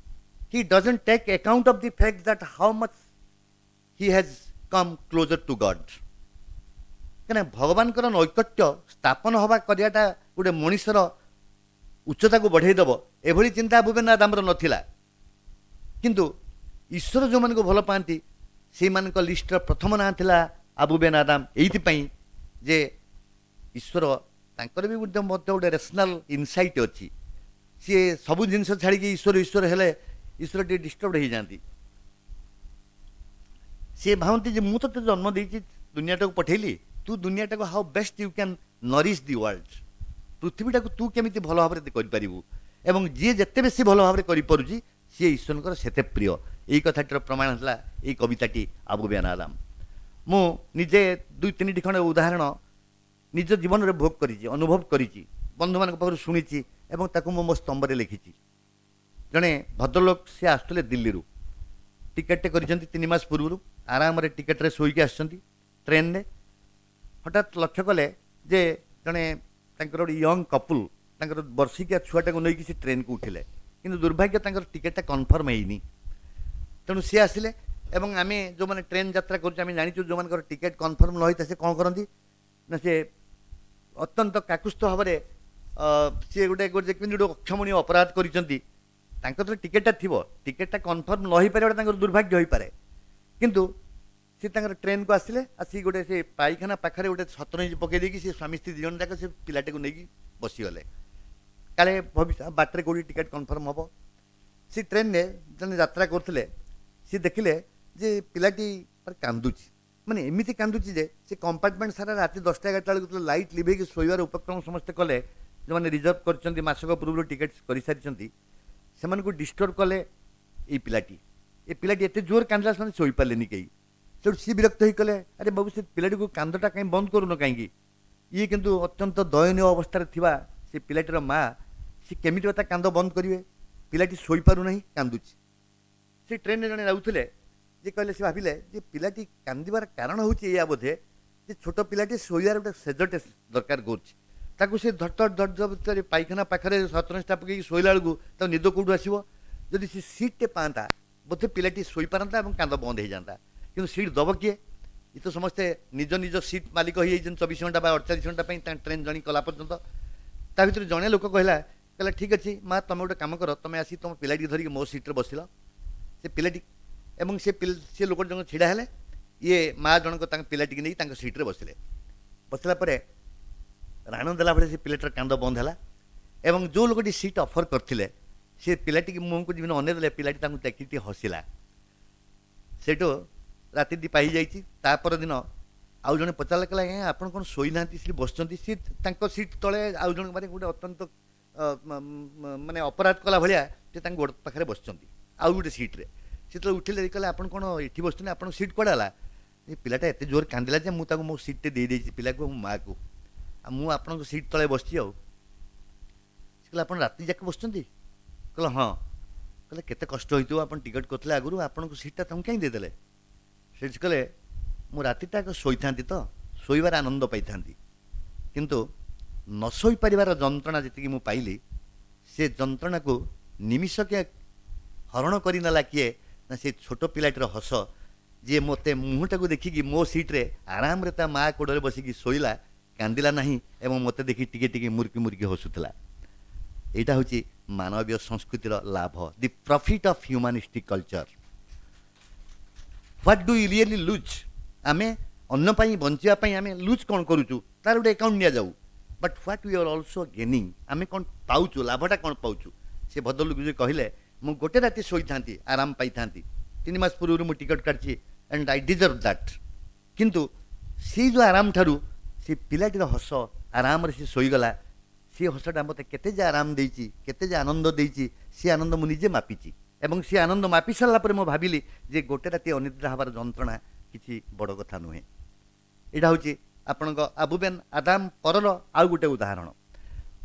[SPEAKER 2] He doesn't take account of the fact that how much he has come closer to God. କାହିଁକିନା ଭଗବାନଙ୍କର ନୈକଟ୍ୟ ସ୍ଥାପନ ହେବା କରିବାଟା ଗୋଟେ ମଣିଷର ଉଚ୍ଚତାକୁ ବଢ଼େଇ ଦେବ, ଏଭଳି ଚିନ୍ତା ଆବୁ ବେନ୍ ଆଦାମର ନଥିଲା। କିନ୍ତୁ ଈଶ୍ୱର ଯେଉଁମାନଙ୍କୁ ଭଲ ପାଆନ୍ତି ସେଇମାନଙ୍କ ଲିଷ୍ଟର ପ୍ରଥମ ନାଁ ଥିଲା ଆବୁ ବେନ୍ ଆଦାମ, ଏଇଥିପାଇଁ ଯେ ଈଶ୍ୱର ତାଙ୍କର ବି ମଧ୍ୟ ଗୋଟେ ରେସନାଲ୍ ଇନସାଇଟ୍ ଅଛି। ସିଏ ସବୁ ଜିନିଷ ଛାଡ଼ିକି ଈଶ୍ୱର ଈଶ୍ୱର ହେଲେ ଈଶ୍ୱର ଟିକେ ଡିଷ୍ଟର୍ବ ହେଇଯାଆନ୍ତି। ସିଏ ଭାବନ୍ତି ଯେ ମୁଁ ତୋତେ ଜନ୍ମ ଦେଇଛି, ଦୁନିଆଟାକୁ ପଠେଇଲି, ତୁ ଦୁନିଆଟାକୁ how best you can nourish the world, ପୃଥିବୀଟାକୁ ତୁ କେମିତି ଭଲ ଭାବରେ କରିପାରିବୁ, ଏବଂ ଯିଏ ଯେତେ ବେଶୀ ଭଲ ଭାବରେ କରିପାରୁଛି ସିଏ ଈଶ୍ୱରଙ୍କର ସେତେ ପ୍ରିୟ। ଏଇ କଥାଟିର ପ୍ରମାଣ ହେଲା ଏଇ କବିତାଟି ଆବୁ ବେନ୍ ଆଦାମ। ମୁଁ ନିଜେ 2 3ଟି ଖଣ୍ଡେ ଉଦାହରଣ ନିଜ ଜୀବନରେ ଭୋଗ କରିଛି, ଅନୁଭବ କରିଛି, ବନ୍ଧୁମାନଙ୍କ ପାଖରୁ ଶୁଣିଛି ଏବଂ ତାକୁ ମୁଁ ମୋ ସ୍ତମ୍ଭରେ ଲେଖିଛି। ଜଣେ ଭଦ୍ରଲୋକ, ସେ ଆସୁଥିଲେ ଦିଲ୍ଲୀରୁ, ଟିକେଟ୍ଟେ କରିଛନ୍ତି 3 ମାସ ପୂର୍ବରୁ, ଆରାମରେ ଟିକେଟ୍ରେ ଶୋଇକି ଆସିଛନ୍ତି ଟ୍ରେନ୍ରେ। ହଠାତ୍ ଲକ୍ଷ୍ୟ କଲେ ଯେ ଜଣେ ତାଙ୍କର ଗୋଟେ ୟଙ୍ଗ କପୁଲ୍ ତାଙ୍କର ବର୍ଷିକିଆ ଛୁଆଟାକୁ ନେଇକି ସେ ଟ୍ରେନ୍କୁ ଉଠିଲେ, କିନ୍ତୁ ଦୁର୍ଭାଗ୍ୟ ତାଙ୍କର ଟିକେଟ୍ଟା କନଫର୍ମ ହେଇନି। ତେଣୁ ସିଏ ଆସିଲେ ଏବଂ ଆମେ ଯେଉଁମାନେ ଟ୍ରେନ୍ ଯାତ୍ରା କରୁଛୁ ଆମେ ଜାଣିଛୁ ଯେଉଁମାନଙ୍କର ଟିକେଟ୍ କନଫର୍ମ ନ ହେଇଥାଏ ସେ କ'ଣ କରନ୍ତି ନା, ସେ ଅତ୍ୟନ୍ତ କାକୁସ୍ଥ ଭାବରେ ସିଏ ଗୋଟେ ଗୋଟେ କେମିତି ଗୋଟେ ଅକ୍ଷମଣୀୟ ଅପରାଧ କରିଛନ୍ତି। ତାଙ୍କର ତ ଟିକେଟ୍ଟା ଥିବ, ଟିକେଟ୍ଟା କନଫର୍ମ ନ ହେଇପାରିବାଟା ତାଙ୍କର ଦୁର୍ଭାଗ୍ୟ ହୋଇପାରେ, କିନ୍ତୁ ସେ ତାଙ୍କର ଟ୍ରେନ୍କୁ ଆସିଲେ, ଆସିକି ଗୋଟେ ସେ ପାଇଖାନା ପାଖରେ ଗୋଟେ ସତରଞ୍ଜି ପକାଇ ଦେଇକି ସେ ସ୍ୱାମୀ ସ୍ତ୍ରୀ 2 ଜଣ ଯାକ ସେ ପିଲାଟାକୁ ନେଇକି ବସିଗଲେ, କାଳେ ଭବିଷ୍ୟତ ବାଟରେ କେଉଁଠି ଟିକେଟ୍ କନଫର୍ମ ହେବ। ସେ ଟ୍ରେନ୍ରେ ଜଣେ ଯାତ୍ରା କରୁଥିଲେ, ସିଏ ଦେଖିଲେ ଯେ ପିଲାଟି କାନ୍ଦୁଛି, ମାନେ ଏମିତି କାନ୍ଦୁଛି ଯେ ସେ କମ୍ପାର୍ଟମେଣ୍ଟ ସାରା ରାତି 10ଟା 11ଟା ବେଳକୁ ଯେତେବେଳେ ଲାଇଟ୍ ଲିଭେଇକି ଶୋଇବାର ଉପକ୍ରମ ସମସ୍ତେ କଲେ, ଯେଉଁମାନେ ରିଜର୍ଭ କରିଛନ୍ତି ମାସକ ପୂର୍ବରୁ ଟିକେଟ୍ କରିସାରିଛନ୍ତି, ସେମାନଙ୍କୁ ଡିଷ୍ଟର୍ବ କଲେ ଏଇ ପିଲାଟି। ଏ ପିଲାଟି ଏତେ ଜୋର କାନ୍ଦିଲା ସେମାନେ ଶୋଇପାରିଲେନି କେହି। ସେଠୁ ସିଏ ବିରକ୍ତ ହେଇଗଲେ, ଆରେ ବାବୁ ସେ ପିଲାଟିକୁ କାନ୍ଦଟା କାହିଁ ବନ୍ଦ କରୁନ କାହିଁକି? ଇଏ କିନ୍ତୁ ଅତ୍ୟନ୍ତ ଦୟନୀୟ ଅବସ୍ଥାରେ ଥିବା ସେ ପିଲାଟିର ମା, ସେ କେମିତି ବା ତା କାନ୍ଦ ବନ୍ଦ କରିବେ? ପିଲାଟି ଶୋଇପାରୁନାହିଁ, କାନ୍ଦୁଛି। ସେ ଟ୍ରେନ୍ରେ ଜଣେ ଯାଉଥିଲେ, ଯେ କହିଲେ, ସେ ଭାବିଲେ ଯେ ପିଲାଟି କାନ୍ଦିବାର କାରଣ ହେଉଛି ଏଇଆ ବୋଧେ ଯେ ଛୋଟ ପିଲାଟି ଶୋଇବାର ଗୋଟେ ସେଜଟେ ଦରକାର କରୁଛି। ତାକୁ ସେ ଧଡ଼ ଧଡ଼ ଧଡ଼ ପାଇଖାନା ପାଖରେ ସତରଞ୍ଜଟା ପକେଇକି ଶୋଇଲା ବେଳକୁ ତାକୁ ନିଦ କେଉଁଠୁ ଆସିବ? ଯଦି ସେ ସିଟ୍ଟେ ପାଆନ୍ତା ବୋଧେ ପିଲାଟି ଶୋଇପାରନ୍ତା ଏବଂ କାନ୍ଦ ବନ୍ଦ ହେଇଯାନ୍ତା। କିନ୍ତୁ ସିଟ୍ ଦେବ କିଏ? ଏ ତ ସମସ୍ତେ ନିଜ ନିଜ ସିଟ୍ ମାଲିକ ହେଇଯାଇଛନ୍ତି 24 ଘଣ୍ଟା ବା 48 ଘଣ୍ଟା ପାଇଁ ତାଙ୍କ ଟ୍ରେନ୍ ଜର୍ଣ୍ଣି କଲା ପର୍ଯ୍ୟନ୍ତ। ତା ଭିତରୁ ଜଣେ ଲୋକ କହିଲା, କହିଲା ଠିକ୍ ଅଛି ମା, ତୁମେ ଗୋଟେ କାମ କର, ତୁମେ ଆସି ତୁମ ପିଲାଟି ଧରିକି ମୋ ସିଟ୍ରେ ବସିଲ। ସେ ପିଲାଟି ଏବଂ ସେ ଲୋକ ଜଣକ ଛିଡ଼ା ହେଲେ, ଇଏ ମା ଜଣକ ତାଙ୍କ ପିଲାଟିକି ନେଇ ତାଙ୍କ ସିଟ୍ରେ ବସିଲେ। ବସିଲା ପରେ ରାଣ ଦେଲା ଭଳି ସେ ପିଲାଟିର କାନ୍ଦ ବନ୍ଦ ହେଲା ଏବଂ ଯେଉଁ ଲୋକଟି ସିଟ୍ ଅଫର୍ କରିଥିଲେ ସେ ପିଲାଟିକି ମୁହଁକୁ ଯେମିତି ଅନେଇ ଦେଲେ, ପିଲାଟି ତାଙ୍କୁ ଦେଖିକି ଟିକେ ହସିଲା। ସେଇଠୁ ରାତିଟି ପାହିଯାଇଛି। ତା ପରଦିନ ଆଉ ଜଣେ ପଚାରିଲା, କହିଲା ଆଜ୍ଞା ଆପଣ କ'ଣ ଶୋଇନାହାନ୍ତି, ସେଠି ବସିଛନ୍ତି? ସିଏ ତାଙ୍କ ସିଟ୍ ତଳେ ଆଉ ଜଣଙ୍କ ମାନେ ଗୋଟେ ଅତ୍ୟନ୍ତ ମାନେ ଅପରାଧ କଲା ଭଳିଆ ସେ ତାଙ୍କ ଗୋଡ଼ ପାଖରେ ବସିଛନ୍ତି ଆଉ ଗୋଟେ ସିଟ୍ରେ। ସେ ଯେତେବେଳେ ଉଠିଲେ କହିଲେ ଆପଣ କ'ଣ ଏଠି ବସିଛନ୍ତି, ଆପଣଙ୍କ ସିଟ୍ କୁଆଡ଼େ ହେଲା? ଏ ପିଲାଟା ଏତେ ଜୋର କାନ୍ଦିଲା ଯେ ମୁଁ ତାକୁ ମୋ ସିଟ୍ଟେ ଦେଇଦେଇଛି ପିଲାକୁ ମୋ ମାଆକୁ, ଆଉ ମୁଁ ଆପଣଙ୍କ ସିଟ୍ ତଳେ ବସିଛି। ଆଉ ସେ କହିଲେ ଆପଣ ରାତି ଯାକ ବସିଛନ୍ତି? କହିଲେ ହଁ। କହିଲେ କେତେ କଷ୍ଟ ହୋଇଥିବ, ଆପଣ ଟିକେଟ୍ କରିଥିଲେ ଆଗରୁ, ଆପଣଙ୍କ ସିଟ୍ଟା ତାଙ୍କୁ କାହିଁ ଦେଇଦେଲେ? ସେଠି କହିଲେ ମୁଁ ରାତିଟା ଆଗ ଶୋଇଥାନ୍ତି ତ, ଶୋଇବାର ଆନନ୍ଦ ପାଇଥାନ୍ତି, କିନ୍ତୁ ନ ଶୋଇପାରିବାର ଯନ୍ତ୍ରଣା ଯେତିକି ମୁଁ ପାଇଲି, ସେ ଯନ୍ତ୍ରଣାକୁ ନିମିଷକେ ହରଣ କରିନେଲା କିଏ ନା ସେ ଛୋଟ ପିଲାଟିର ହସ, ଯିଏ ମୋତେ ମୁହଁଟାକୁ ଦେଖିକି ମୋ ସିଟ୍ରେ ଆରାମରେ ତା ମା କୋଡ଼ରେ ବସିକି ଶୋଇଲା, କାନ୍ଦିଲା ନାହିଁ ଏବଂ ମୋତେ ଦେଖି ଟିକେ ଟିକେ ମୁରୁକି ମୁରୁକି ହସୁଥିଲା। ଏଇଟା ହେଉଛି ମାନବୀୟ ସଂସ୍କୃତିର ଲାଭ, the profit of humanistic culture. What do you really lose? ଆମେ ଅନ୍ୟ ପାଇଁ ବଞ୍ଚିବା ପାଇଁ ଆମେ ଲୁଜ୍ କ'ଣ କରୁଛୁ ତାର ଗୋଟେ ଆକାଉଣ୍ଟ ନିଆଯାଉ, but what we are also gaining, ଆମେ କ'ଣ ପାଉଛୁ, ଲାଭଟା କ'ଣ ପାଉଛୁ? ସେ ଭଦ୍ରଲୋକ ଯେ କହିଲେ ମୁଁ ଗୋଟେ ରାତି ଶୋଇଥାନ୍ତି, ଆରାମ ପାଇଥାନ୍ତି, 3 ମାସ ପୂର୍ବରୁ ମୁଁ ଟିକେଟ୍ କାଟିଛି ଆଣ୍ଡ I deserve that, କିନ୍ତୁ ସେଇ ଯେଉଁ ଆରାମ ଠାରୁ ସେ ପିଲାଟିର ହସ, ଆରାମରେ ସେ ଶୋଇଗଲା, ସେ ହସଟା ମୋତେ କେତେ ଯେ ଆରାମ ଦେଇଛି, କେତେ ଯେ ଆନନ୍ଦ ଦେଇଛି, ସେ ଆନନ୍ଦ ମୁଁ ନିଜେ ମାପିଛି। ଏବଂ ସେ ଆନନ୍ଦ ମାପି ସାରିଲା ପରେ ମୁଁ ଭାବିଲି ଯେ ଗୋଟେ ରାତି ଅନିଦ୍ରା ହେବାର ଯନ୍ତ୍ରଣା କିଛି ବଡ଼ କଥା ନୁହେଁ। ଏଇଟା ହେଉଛି ଆପଣଙ୍କ ଆବୁବେନ୍ ଆଦାମ ପରର ଆଉ ଗୋଟେ ଉଦାହରଣ।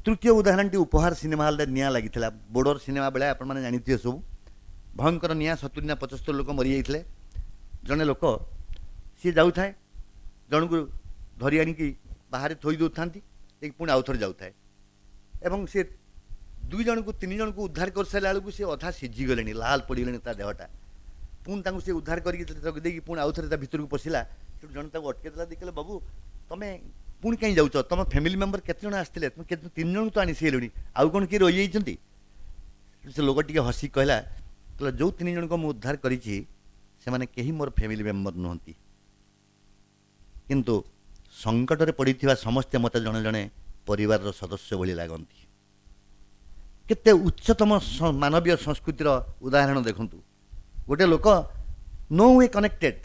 [SPEAKER 2] ତୃତୀୟ ଉଦାହରଣଟି ଉପହାର ସିନେମା ହଲ୍ରେ ନିଆଁ ଲାଗିଥିଲା, ବୋର୍ଡ଼ର ସିନେମା ବେଳେ ଆପଣମାନେ ଜାଣିଥିବେ ସବୁ, ଭୟଙ୍କର ନିଆଁ, 70 ନା 75 ଲୋକ ମରିଯାଇଥିଲେ। ଜଣେ ଲୋକ ସିଏ ଯାଉଥାଏ, ଜଣକୁ ଧରି ଆଣିକି ବାହାରେ ଥୋଇ ଦେଉଥାନ୍ତି, ପୁଣି ଆଉ ଥରେ ଯାଉଥାଏ, ଏବଂ ସେ 2 ଜଣକୁ 3 ଜଣକୁ ଉଦ୍ଧାର କରିସାରିଲା ବେଳକୁ ସେ ଅଧା ସିଝିଗଲେଣି, ଲାଲ ପଡ଼ିଗଲେଣି ତା ଦେହଟା। ପୁଣି ତାଙ୍କୁ ସେ ଉଦ୍ଧାର କରିକି ରଖିଦେଇକି ପୁଣି ଆଉ ଥରେ ତା ଭିତରକୁ ପଶିଲା। ସେଠୁ ଜଣେ ତାକୁ ଅଟକେଇ ଦେଲା, ଦେଖିଲେ ବାବୁ ତମେ ପୁଣି କାହିଁ ଯାଉଛ, ତମ ଫ୍ୟାମିଲି ମେମ୍ବର କେତେ ଜଣ ଆସିଥିଲେ, ତୁମେ କେତେ 3 ଜଣକୁ ତ ଆଣି ସାରିଲଣି, ଆଉ କ'ଣ କିଏ ରହିଯାଇଛନ୍ତି? ସେ ଲୋକ ଟିକେ ହସି କହିଲା, କହିଲା ଯେଉଁ 3 ଜଣଙ୍କୁ ମୁଁ ଉଦ୍ଧାର କରିଛି ସେମାନେ କେହି ମୋର ଫ୍ୟାମିଲି ମେମ୍ବର ନୁହନ୍ତି, କିନ୍ତୁ ସଙ୍କଟରେ ପଡ଼ିଥିବା ସମସ୍ତେ ମୋତେ ଜଣେ ଜଣେ ପରିବାରର ସଦସ୍ୟ ଭଳି ଲାଗନ୍ତି। କେତେ ଉଚ୍ଚତମ ମାନବୀୟ ସଂସ୍କୃତିର ଉଦାହରଣ ଦେଖନ୍ତୁ। ଗୋଟେ ଲୋକ no way connected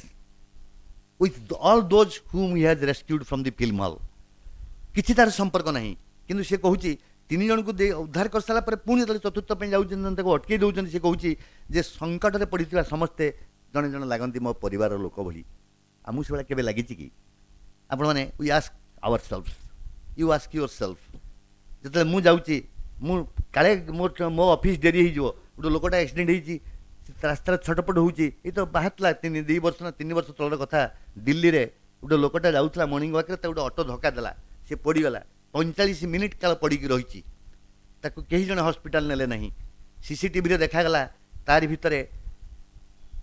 [SPEAKER 2] with all those whom he has rescued from the film hall, କିଛି ତାର ସମ୍ପର୍କ ନାହିଁ, କିନ୍ତୁ ସେ କହୁଛି ତିନି ଜଣଙ୍କୁ ଦେଇ ଉଦ୍ଧାର କରିସାରିଲା ପରେ ପୁଣି ଯେତେବେଳେ ଚତୁର୍ଥ ପାଇଁ ଯାଉଛନ୍ତି ତାକୁ ଅଟକେଇ ଦେଉଛନ୍ତି, ସେ କହୁଛି ଯେ ସଙ୍କଟରେ ପଡ଼ିଥିବା ସମସ୍ତେ ଜଣେ ଜଣେ ଲାଗନ୍ତି ମୋ ପରିବାରର ଲୋକ ଭଳି। ଆମକୁ ସେଭଳିଆ କେବେ ଲାଗିଛି କି? ଆପଣମାନେ we ask our self, you ask your self. ଯେତେବେଳେ ମୁଁ ଯାଉଛି, ମୁଁ କାଳେ ମୋ ଅଫିସ୍ ଡେରି ହେଇଯିବ, ଗୋଟେ ଲୋକଟା ଆକ୍ସିଡେଣ୍ଟ ହେଇଛି, ରାସ୍ତାରେ ଛଟପଟ ହେଉଛି। ଏଇ ତ ବାହାରିଥିଲା 2 ବର୍ଷ ନା 3 ବର୍ଷ ତଳର କଥା, ଦିଲ୍ଲୀରେ ଗୋଟେ ଲୋକଟା ଯାଉଥିଲା ମର୍ଣ୍ଣିଂ ୱାକ୍ରେ, ତାକୁ ଗୋଟେ ଅଟୋ ଧକ୍କା ଦେଲା, ସେ ପଡ଼ିଗଲା, 45 ମିନିଟ୍ କାଳ ପଡ଼ିକି ରହିଛି, ତାକୁ କେହି ଜଣେ ହସ୍ପିଟାଲ ନେଲେ ନାହିଁ। ସିସିଟିଭିରେ ଦେଖାଗଲା ତାରି ଭିତରେ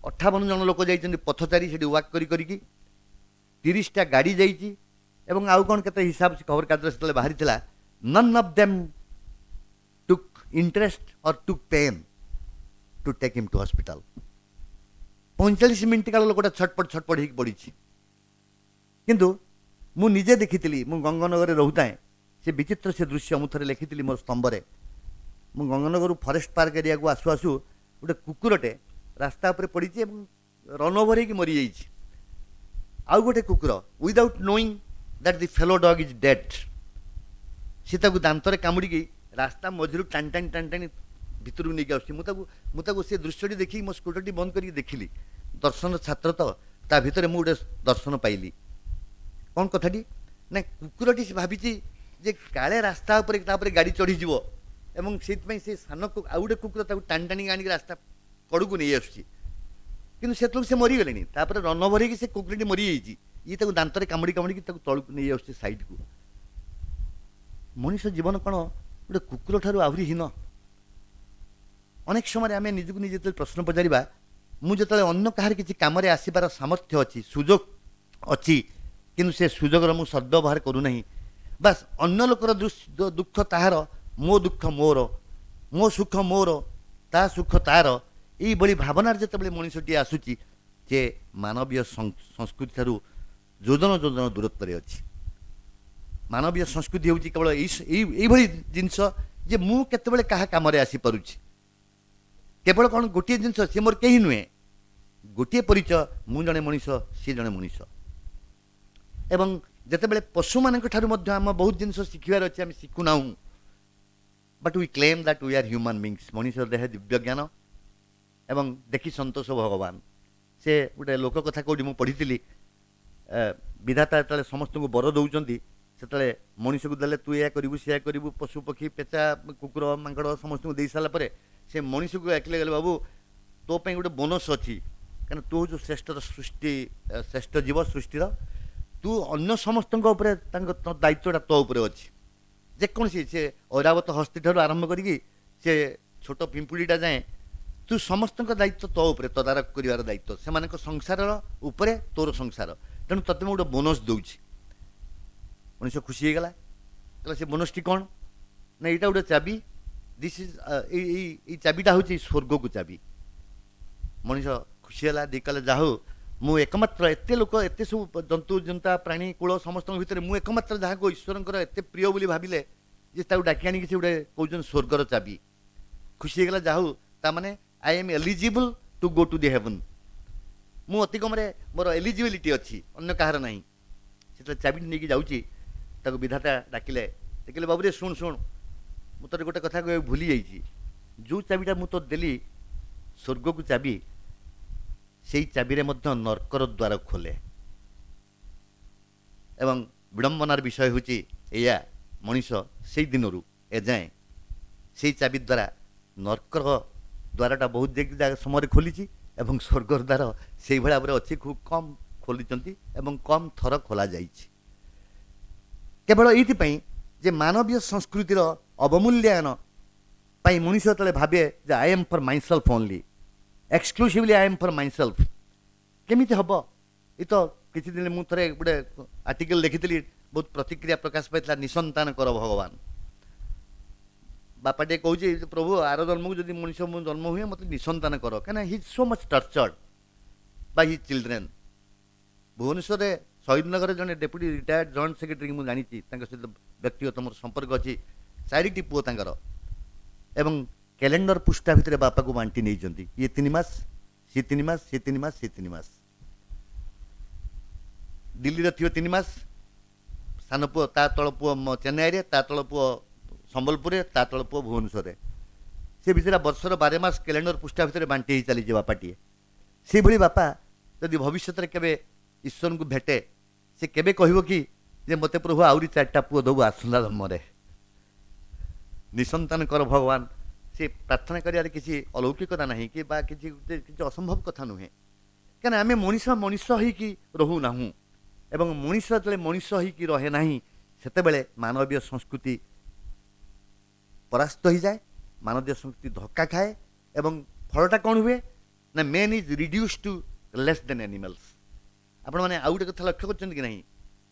[SPEAKER 2] 58 ଜଣ ଲୋକ ଯାଇଛନ୍ତି ପଥଚାରୀ ସେଠି ୱାକ୍ କରି କରିକି, 30ଟା ଗାଡ଼ି ଯାଇଛି ଏବଂ ଆଉ କ'ଣ କେତେ ହିସାବ ଖବରକାଗଜରେ ସେତେବେଳେ ବାହାରିଥିଲା। None of them took interest or took pain to take him to hospital. 45 minute କାଳ ଲୋକଟା ଛଟପଟ ଛଟପଟ ହେଇକି ପଡ଼ିଛି। କିନ୍ତୁ ମୁଁ ନିଜେ ଦେଖିଥିଲି, ମୁଁ ଗଙ୍ଗନଗରରେ ରହୁଥାଏ, ସେ ବିଚିତ୍ର ସେ ଦୃଶ୍ୟ ମୁଁ ଥରେ ଲେଖିଥିଲି ମୋର ସ୍ତମ୍ଭରେ। ମୁଁ ଗଙ୍ଗନଗରରୁ ଫରେଷ୍ଟ ପାର୍କ ଏରିଆକୁ ଆସୁ ଆସୁ ଗୋଟେ କୁକୁରଟେ ରାସ୍ତା ଉପରେ ପଡ଼ିଛି ଏବଂ ରନ୍ ଓଭର ହେଇକି ମରିଯାଇଛି। ଆଉ ଗୋଟେ କୁକୁର without knowing that the fellow dog is dead, ସେ ତାକୁ ଦାନ୍ତରେ କାମୁଡ଼ିକି ରାସ୍ତା ମଝିରୁ ଟାଣି ଟାଣି ଟାଣି ଟାଣି ଭିତରକୁ ନେଇକି ଆସୁଛି। ମୁଁ ତାକୁ ସେ ଦୃଶ୍ୟଟି ଦେଖିକି ମୋ ସ୍କୁଟରଟି ବନ୍ଦ କରିକି ଦେଖିଲି। ଦର୍ଶନ ଛାତ୍ର ତ, ତା ଭିତରେ ମୁଁ ଗୋଟେ ଦର୍ଶନ ପାଇଲି। କ'ଣ କଥାଟି ନା, କୁକୁରଟି ସେ ଭାବିଛି ଯେ କାଳେ ରାସ୍ତା ଉପରେ ତାପରେ ଗାଡ଼ି ଚଢ଼ିଯିବ ଏବଂ ସେଇଥିପାଇଁ ସେ ସାନ ଆଉ ଗୋଟେ କୁକୁର ତାକୁ ଟାଣି ଟାଣିକି ଆଣିକି ରାସ୍ତା କଡ଼କୁ ନେଇ ଆସୁଛି। କିନ୍ତୁ ସେତେବେଳକୁ ସେ ମରିଗଲେଣି, ତାପରେ ରନ୍ ଓଭର ହେଇକି ସେ କୁକୁରଟି ମରିଯାଇଛି। ଇଏ ତାକୁ ଦାନ୍ତରେ କାମୁଡ଼ି କାମୁଡ଼ିକି ତାକୁ ତଳକୁ ନେଇ ଆସୁଛି ସାଇଡ଼କୁ। ମଣିଷ ଜୀବନ କ'ଣ ଗୋଟେ କୁକୁର ଠାରୁ ଆହୁରି ହୀନ? ଅନେକ ସମୟରେ ଆମେ ନିଜକୁ ନିଜେ ଯେତେବେଳେ ପ୍ରଶ୍ନ ପଚାରିବା, ମୁଁ ଯେତେବେଳେ ଅନ୍ୟ କାହାର କିଛି କାମରେ ଆସିବାର ସାମର୍ଥ୍ୟ ଅଛି, ସୁଯୋଗ ଅଛି, କିନ୍ତୁ ସେ ସୁଯୋଗର ମୁଁ ସଦ୍ବ୍ୟବହାର କରୁନାହିଁ, ବାସ୍ ଅନ୍ୟ ଲୋକର ଦୁଃଖ ତାହାର, ମୋ ଦୁଃଖ ମୋର, ମୋ ସୁଖ ମୋର, ତା ସୁଖ ତାର, ଏଇଭଳି ଭାବନାରେ ଯେତେବେଳେ ମଣିଷଟିଏ ଆସୁଛି, ଯେ ମାନବୀୟ ସଂସ୍କୃତି ଠାରୁ ଯୋଜନ ଯୋଜନ ଦୂରତ୍ୱରେ ଅଛି। ମାନବୀୟ ସଂସ୍କୃତି ହେଉଛି କେବଳ ଏଇଭଳି ଜିନିଷ ଯେ ମୁଁ କେତେବେଳେ କାହା କାମରେ ଆସିପାରୁଛି। କେବଳ କ'ଣ ଗୋଟିଏ ଜିନିଷ, ସିଏ ମୋର କେହି ନୁହେଁ, ଗୋଟିଏ ପରିଚୟ, ମୁଁ ଜଣେ ମଣିଷ, ସିଏ ଜଣେ ମଣିଷ। ଏବଂ ଯେତେବେଳେ ପଶୁମାନଙ୍କ ଠାରୁ ମଧ୍ୟ ଆମ ବହୁତ ଜିନିଷ ଶିଖିବାର ଅଛି, ଆମେ ଶିଖୁନାହୁଁ। But we claim that we are human beings. ମଣିଷ ଦେହ ଦିବ୍ୟ ଜ୍ଞାନ ଏବଂ ଦେଖି ସନ୍ତୋଷ ଭଗବାନ। ସେ ଗୋଟେ ଲୋକ କଥା କେଉଁଠି ମୁଁ ପଢ଼ିଥିଲି, ବିଧାତା ଯେତେବେଳେ ସମସ୍ତଙ୍କୁ ବର ଦେଉଛନ୍ତି, ସେତେବେଳେ ମଣିଷକୁ ଦେଲେ ତୁ ଏହା କରିବୁ ସେୟା କରିବୁ, ପଶୁ ପକ୍ଷୀ ପେଚା କୁକୁର ମାଙ୍କଡ଼ ସମସ୍ତଙ୍କୁ ଦେଇ ସାରିଲା ପରେ ସେ ମଣିଷକୁ ଡାକିଲେ, ଗଲେ ବାବୁ ତୋ ପାଇଁ ଗୋଟେ ବୋନସ୍ ଅଛି, କାରଣ ତୁ ହେଉଛୁ ଶ୍ରେଷ୍ଠର ସୃଷ୍ଟି, ଶ୍ରେଷ୍ଠ ଜୀବ ସୃଷ୍ଟିର, ତୁ ଅନ୍ୟ ସମସ୍ତଙ୍କ ଉପରେ ତାଙ୍କ ଦାୟିତ୍ୱଟା ତୋ ଉପରେ ଅଛି। ଯେକୌଣସି ସେ ଐରାବତ ହସ୍ତି ଠାରୁ ଆରମ୍ଭ କରିକି ସେ ଛୋଟ ପିମ୍ପୁଡ଼ିଟା ଯାଏଁ, ତୁ ସମସ୍ତଙ୍କ ଦାୟିତ୍ୱ ତୋ ଉପରେ, ତଦାରଖ କରିବାର ଦାୟିତ୍ୱ ସେମାନଙ୍କ ସଂସାରର ଉପରେ ତୋର ସଂସାର, ତେଣୁ ତୋତେ ମୁଁ ଗୋଟେ ବୋନସ୍ ଦେଉଛି। ମଣିଷ ଖୁସି ହେଇଗଲା, କହିଲା ସେ ବୋନସ୍ଟି କ'ଣ? ନା ଏଇଟା ଗୋଟେ ଚାବି, this is ଏଇ ଚାବିଟା ହେଉଛି ସ୍ୱର୍ଗକୁ ଚାବି। ମଣିଷ ଖୁସି ହେଲା, ଦେଇ କହିଲା ଯାହା ହଉ ମୁଁ ଏକମାତ୍ର, ଏତେ ଲୋକ ଏତେ ସବୁ ଜନ୍ତୁ ଜନ୍ତା ପ୍ରାଣୀ କୂଳ ସମସ୍ତଙ୍କ ଭିତରେ ମୁଁ ଏକମାତ୍ର ଯାହାକୁ ଈଶ୍ୱରଙ୍କର ଏତେ ପ୍ରିୟ ବୋଲି ଭାବିଲେ ଯେ ତାକୁ ଡାକି ଆଣିକି ସେ ଗୋଟେ କହୁଛନ୍ତି ସ୍ୱର୍ଗର ଚାବି। ଖୁସି ହେଇଗଲା, ଯାହା ହଉ ତାମାନେ I am eligible to go to the heaven, ମୁଁ ଅତି କମରେ ମୋର ଏଲିଜିବିଲିଟି ଅଛି, ଅନ୍ୟ କାହାର ନାହିଁ। ସେତେବେଳେ ଚାବିଟି ନେଇକି ଯାଉଛି, ତାକୁ ବିଧାତା ଡାକିଲେ, ଦେଖିଲେ ବାବୁରେ ଶୁଣ ଶୁଣ, ମୁଁ ତୋତେ ଗୋଟେ କଥା କହିବାକୁ ଭୁଲି ଯାଇଛି, ଯେଉଁ ଚାବିଟା ମୁଁ ତୋତେ ଦେଲି ସ୍ୱର୍ଗକୁ ଚାବି, ସେଇ ଚାବିରେ ମଧ୍ୟ ନର୍କର ଦ୍ୱାର ଖୋଲେ। ଏବଂ ବିଡ଼ମ୍ବନାର ବିଷୟ ହେଉଛି ଏଇଆ, ମଣିଷ ସେଇ ଦିନରୁ ଏଯାଏଁ ସେଇ ଚାବି ଦ୍ୱାରା ନର୍କର ଦ୍ୱାରଟା ବହୁତ ସମୟରେ ଖୋଲିଛି ଏବଂ ସ୍ୱର୍ଗର ଦ୍ୱାର ସେଇଭଳି ଭାବରେ ଅଛି, ଖୁବ୍ କମ୍ ଖୋଲିଛନ୍ତି ଏବଂ କମ୍ ଥର ଖୋଲାଯାଇଛି। କେବଳ ଏଇଥିପାଇଁ ଯେ ମାନବୀୟ ସଂସ୍କୃତିର ଅବମୂଲ୍ୟାୟନ ପାଇଁ ମଣିଷ ଯେତେବେଳେ ଭାବେ ଯେ I am for myself only, exclusively I am for myself, କେମିତି ହେବ? ଏ ତ କିଛି ଦିନ ମୁଁ ଥରେ ଗୋଟେ ଆର୍ଟିକଲ୍ ଲେଖିଥିଲି, ବହୁତ ପ୍ରତିକ୍ରିୟା ପ୍ରକାଶ ପାଇଥିଲା, ନିସନ୍ତାନ କର ଭଗବାନ। ବାପା ଟିକେ କହୁଛି ପ୍ରଭୁ ଆର ଜନ୍ମକୁ ଯଦି ମଣିଷ ମୁଁ ଜନ୍ମ ହୁଏ ମୋତେ ନିସନ୍ତାନ କର, କାହିଁକିନା he so much tortured by his children. ଭୁବନେଶ୍ୱରରେ ଶହୀଦନଗରରେ ଜଣେ ଡେପୁଟି ରିଟାୟାର୍ଡ ଜଏଣ୍ଟ ସେକ୍ରେଟାରୀ ମୁଁ ଜାଣିଛି, ତାଙ୍କ ସହିତ ବ୍ୟକ୍ତିଗତ ମୋର ସମ୍ପର୍କ ଅଛି, 4ଟି ପୁଅ ତାଙ୍କର, ଏବଂ କ୍ୟାଲେଣ୍ଡର ପୃଷ୍ଠା ଭିତରେ ବାପାକୁ ବାଣ୍ଟି ନେଇଛନ୍ତି, ଇଏ 3 ମାସ, ସିଏ 3 ମାସ, ସିଏ 3 ମାସ, ସିଏ 3 ମାସ। ଦିଲ୍ଲୀରେ ଥିବ 3 ମାସ, ସାନ ପୁଅ ତା ତଳ ପୁଅ ଚେନ୍ନାଇରେ, ତା ତଳ ପୁଅ ସମ୍ବଲପୁରରେ, ତା ତଳ ପୁଅ ଭୁବନେଶ୍ୱରରେ। ସେ ଭିତରେ ବର୍ଷର 12 ମାସ କ୍ୟାଲେଣ୍ଡର ପୃଷ୍ଠା ଭିତରେ ବାଣ୍ଟି ହେଇ ଚାଲିଛି ବାପାଟିଏ। ସେଇଭଳି ବାପା ଯଦି ଭବିଷ୍ୟତରେ କେବେ ଈଶ୍ୱରଙ୍କୁ ଭେଟେ, ସେ କେବେ କହିବ କି ଯେ ମୋତେ ପ୍ରଭୁ ଆହୁରି 4ଟା ପୁଅ ଦେବୁ ଆସନ୍ତା ଜନ୍ମରେ, ନିସନ୍ତାନ କର ଭଗବାନ। ସେ ପ୍ରାର୍ଥନା କରିବାରେ କିଛି ଅଲୌକିକତା ନାହିଁ କି ବା କିଛି କିଛି ଅସମ୍ଭବ କଥା ନୁହେଁ। କାହିଁକିନା ଆମେ ମଣିଷ ମଣିଷ ହେଇକି ରହୁନାହୁଁ, ଏବଂ ମଣିଷ ଯେତେବେଳେ ମଣିଷ ହେଇକି ରହେ ନାହିଁ ସେତେବେଳେ ମାନବୀୟ ସଂସ୍କୃତି ପରାସ୍ତ ହୋଇଯାଏ, ମାନବୀୟ ସଂସ୍କୃତି ଧକ୍କା ଖାଏ, ଏବଂ ଫଳଟା କ'ଣ ହୁଏ ନା man is reduce to less than animals. ଆପଣମାନେ ଆଉ ଗୋଟେ କଥା ଲକ୍ଷ୍ୟ କରିଛନ୍ତି କି ନାହିଁ,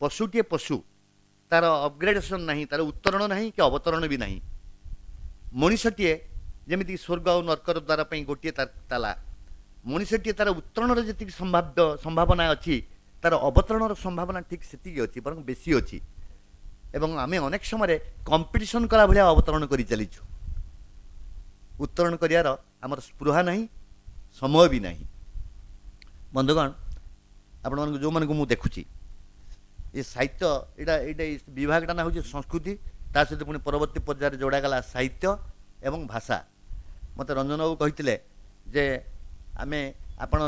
[SPEAKER 2] ପଶୁଟିଏ ପଶୁ, ତାର ଅପଗ୍ରେଡେସନ୍ ନାହିଁ, ତାର ଉତ୍ତରଣ ନାହିଁ କି ଅବତରଣ ବି ନାହିଁ। ମଣିଷଟିଏ ଯେମିତିକି ସ୍ୱର୍ଗ ଆଉ ନର୍କର ଦ୍ୱାର ପାଇଁ ଗୋଟିଏ ତାଲା, ମଣିଷଟିଏ ତାର ଉତ୍ତରଣର ଯେତିକି ସମ୍ଭାବନା ଅଛି, ତାର ଅବତରଣର ସମ୍ଭାବନା ଠିକ୍ ସେତିକି ଅଛି, ବରଂ ବେଶୀ ଅଛି। ଏବଂ ଆମେ ଅନେକ ସମୟରେ କମ୍ପିଟିସନ୍ କଲା ଭଳିଆ ଅବତରଣ କରି ଚାଲିଛୁ। ଉତ୍ତରଣ କରିବାର ଆମର ସ୍ପୃହା ନାହିଁ, ସମୟ ବି ନାହିଁ। ବନ୍ଧୁଗଣ, ଆପଣମାନଙ୍କୁ ଯେଉଁମାନଙ୍କୁ ମୁଁ ଦେଖୁଛି, ଏ ସାହିତ୍ୟ ଏଇଟା ଏଇଟା ଏଇ ବିଭାଗଟା ନା ହେଉଛି ସଂସ୍କୃତି, ତା ସହିତ ପୁଣି ପରବର୍ତ୍ତୀ ପର୍ଯ୍ୟାୟରେ ଯୋଡ଼ାଗଲା ସାହିତ୍ୟ ଏବଂ ଭାଷା। ମୋତେ ରଞ୍ଜନ ବାବୁ କହିଥିଲେ ଯେ ଆମେ ଆପଣ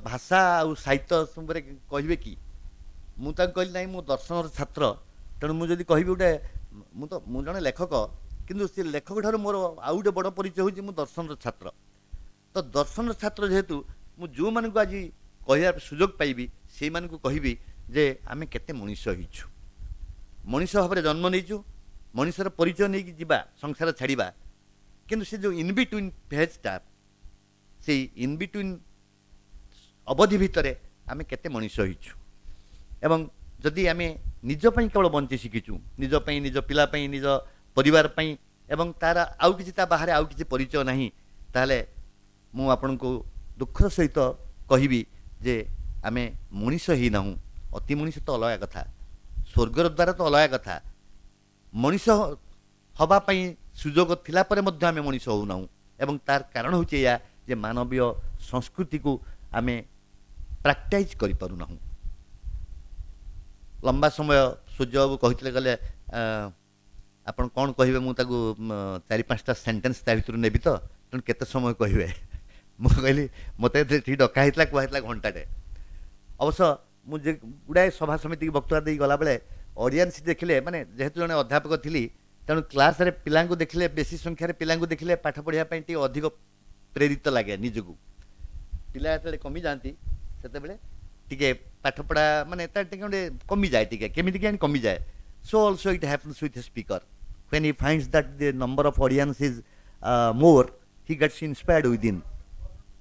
[SPEAKER 2] ଭାଷା ଆଉ ସାହିତ୍ୟ ଉପରେ କହିବେ କି? ମୁଁ ତାଙ୍କୁ କହିଲି ନାହିଁ, ମୁଁ ଦର୍ଶନର ଛାତ୍ର, ତେଣୁ ମୁଁ ଯଦି କହିବି ଗୋଟେ, ମୁଁ ଜଣେ ଲେଖକ, କିନ୍ତୁ ସେ ଲେଖକ ଠାରୁ ମୋର ଆଉ ଗୋଟେ ବଡ଼ ପରିଚୟ ହେଉଛି ମୁଁ ଦର୍ଶନର ଛାତ୍ର। ତ ଦର୍ଶନର ଛାତ୍ର ଯେହେତୁ ମୁଁ ଯେଉଁମାନଙ୍କୁ ଆଜି କହିବାର ସୁଯୋଗ ପାଇବି ସେଇମାନଙ୍କୁ କହିବି ଯେ ଆମେ କେତେ ମଣିଷ ହେଇଛୁ, ମଣିଷ ଭାବରେ ଜନ୍ମ ନେଇଛୁ, ମଣିଷର ପରିଚୟ ନେଇକି ଯିବା, ସଂସାର ଛାଡ଼ିବା, କିନ୍ତୁ ସେ ଯେଉଁ ଇନବିଟୁଇନ୍ ଫେଜ୍ଟା, ସେଇ ଇନବିଟୁଇନ୍ ଅବଧି ଭିତରେ ଆମେ କେତେ ମଣିଷ ହେଇଛୁ। ଏବଂ ଯଦି ଆମେ ନିଜ ପାଇଁ କେବଳ ବଞ୍ଚି ଶିଖିଛୁ, ନିଜ ପାଇଁ, ନିଜ ପିଲା ପାଇଁ, ନିଜ ପରିବାର ପାଇଁ, ଏବଂ ତାର ଆଉ କିଛି ତା ବାହାରେ ଆଉ କିଛି ପରିଚୟ ନାହିଁ, ତାହେଲେ ମୁଁ ଆପଣଙ୍କୁ ଦୁଃଖର ସହିତ କହିବି ଯେ ଆମେ ମଣିଷ ହେଇନାହୁଁ। ଅତି ମଣିଷ ତ ଅଲଗା କଥା, ସ୍ୱର୍ଗର ଦ୍ୱାରା ତ ଅଲଗା କଥା, ମଣିଷ ହେବା ପାଇଁ ସୁଯୋଗ ଥିଲା ପରେ ମଧ୍ୟ ଆମେ ମଣିଷ ହେଉନାହୁଁ। ଏବଂ ତାର କାରଣ ହେଉଛି ଏଇଆ ଯେ ମାନବୀୟ ସଂସ୍କୃତିକୁ ଆମେ ପ୍ରାକ୍ଟାଇଜ୍ କରିପାରୁନାହୁଁ। ଲମ୍ବା ସମୟ ସୂର୍ଯ୍ୟ ବାବୁ କହିଥିଲେ, ଗଲେ ଆପଣ କ'ଣ କହିବେ, ମୁଁ ତାକୁ 4-5ଟା ସେଣ୍ଟେନ୍ସ ତା ଭିତରୁ ନେବି ତ, ତେଣୁ କେତେ ସମୟ କହିବେ? ମୁଁ କହିଲି ମୋତେ ଠିକ୍ ଡକା ହେଇଥିଲା, କୁହା ହେଇଥିଲା ଘଣ୍ଟାଟେ। ଅବଶ୍ୟ ମୁଁ ଯେ ଗୁଡ଼ାଏ ସଭା ସମିତିକି ବକ୍ତୃତା ଦେଇ ଗଲାବେଳେ ଅଡ଼ିଏନ୍ସ ଦେଖିଲେ, ମାନେ ଯେହେତୁ ଜଣେ ଅଧ୍ୟାପକ ଥିଲି, ତେଣୁ କ୍ଲାସ୍ରେ ପିଲାଙ୍କୁ ଦେଖିଲେ, ବେଶୀ ସଂଖ୍ୟାରେ ପିଲାଙ୍କୁ ଦେଖିଲେ ପାଠ ପଢ଼ିବା ପାଇଁ ଟିକେ ଅଧିକ ପ୍ରେରିତ ଲାଗେ ନିଜକୁ। ପିଲା ଯେତେବେଳେ କମିଯାଆନ୍ତି ସେତେବେଳେ ଟିକେ ପାଠପଢ଼ା ମାନେ ତାର ଟିକେ ଗୋଟେ କମିଯାଏ, ଟିକେ କେମିତି କେଜାଣି କମିଯାଏ। So also it happens with a speaker. When he finds that the number of audience is more, he gets inspired within.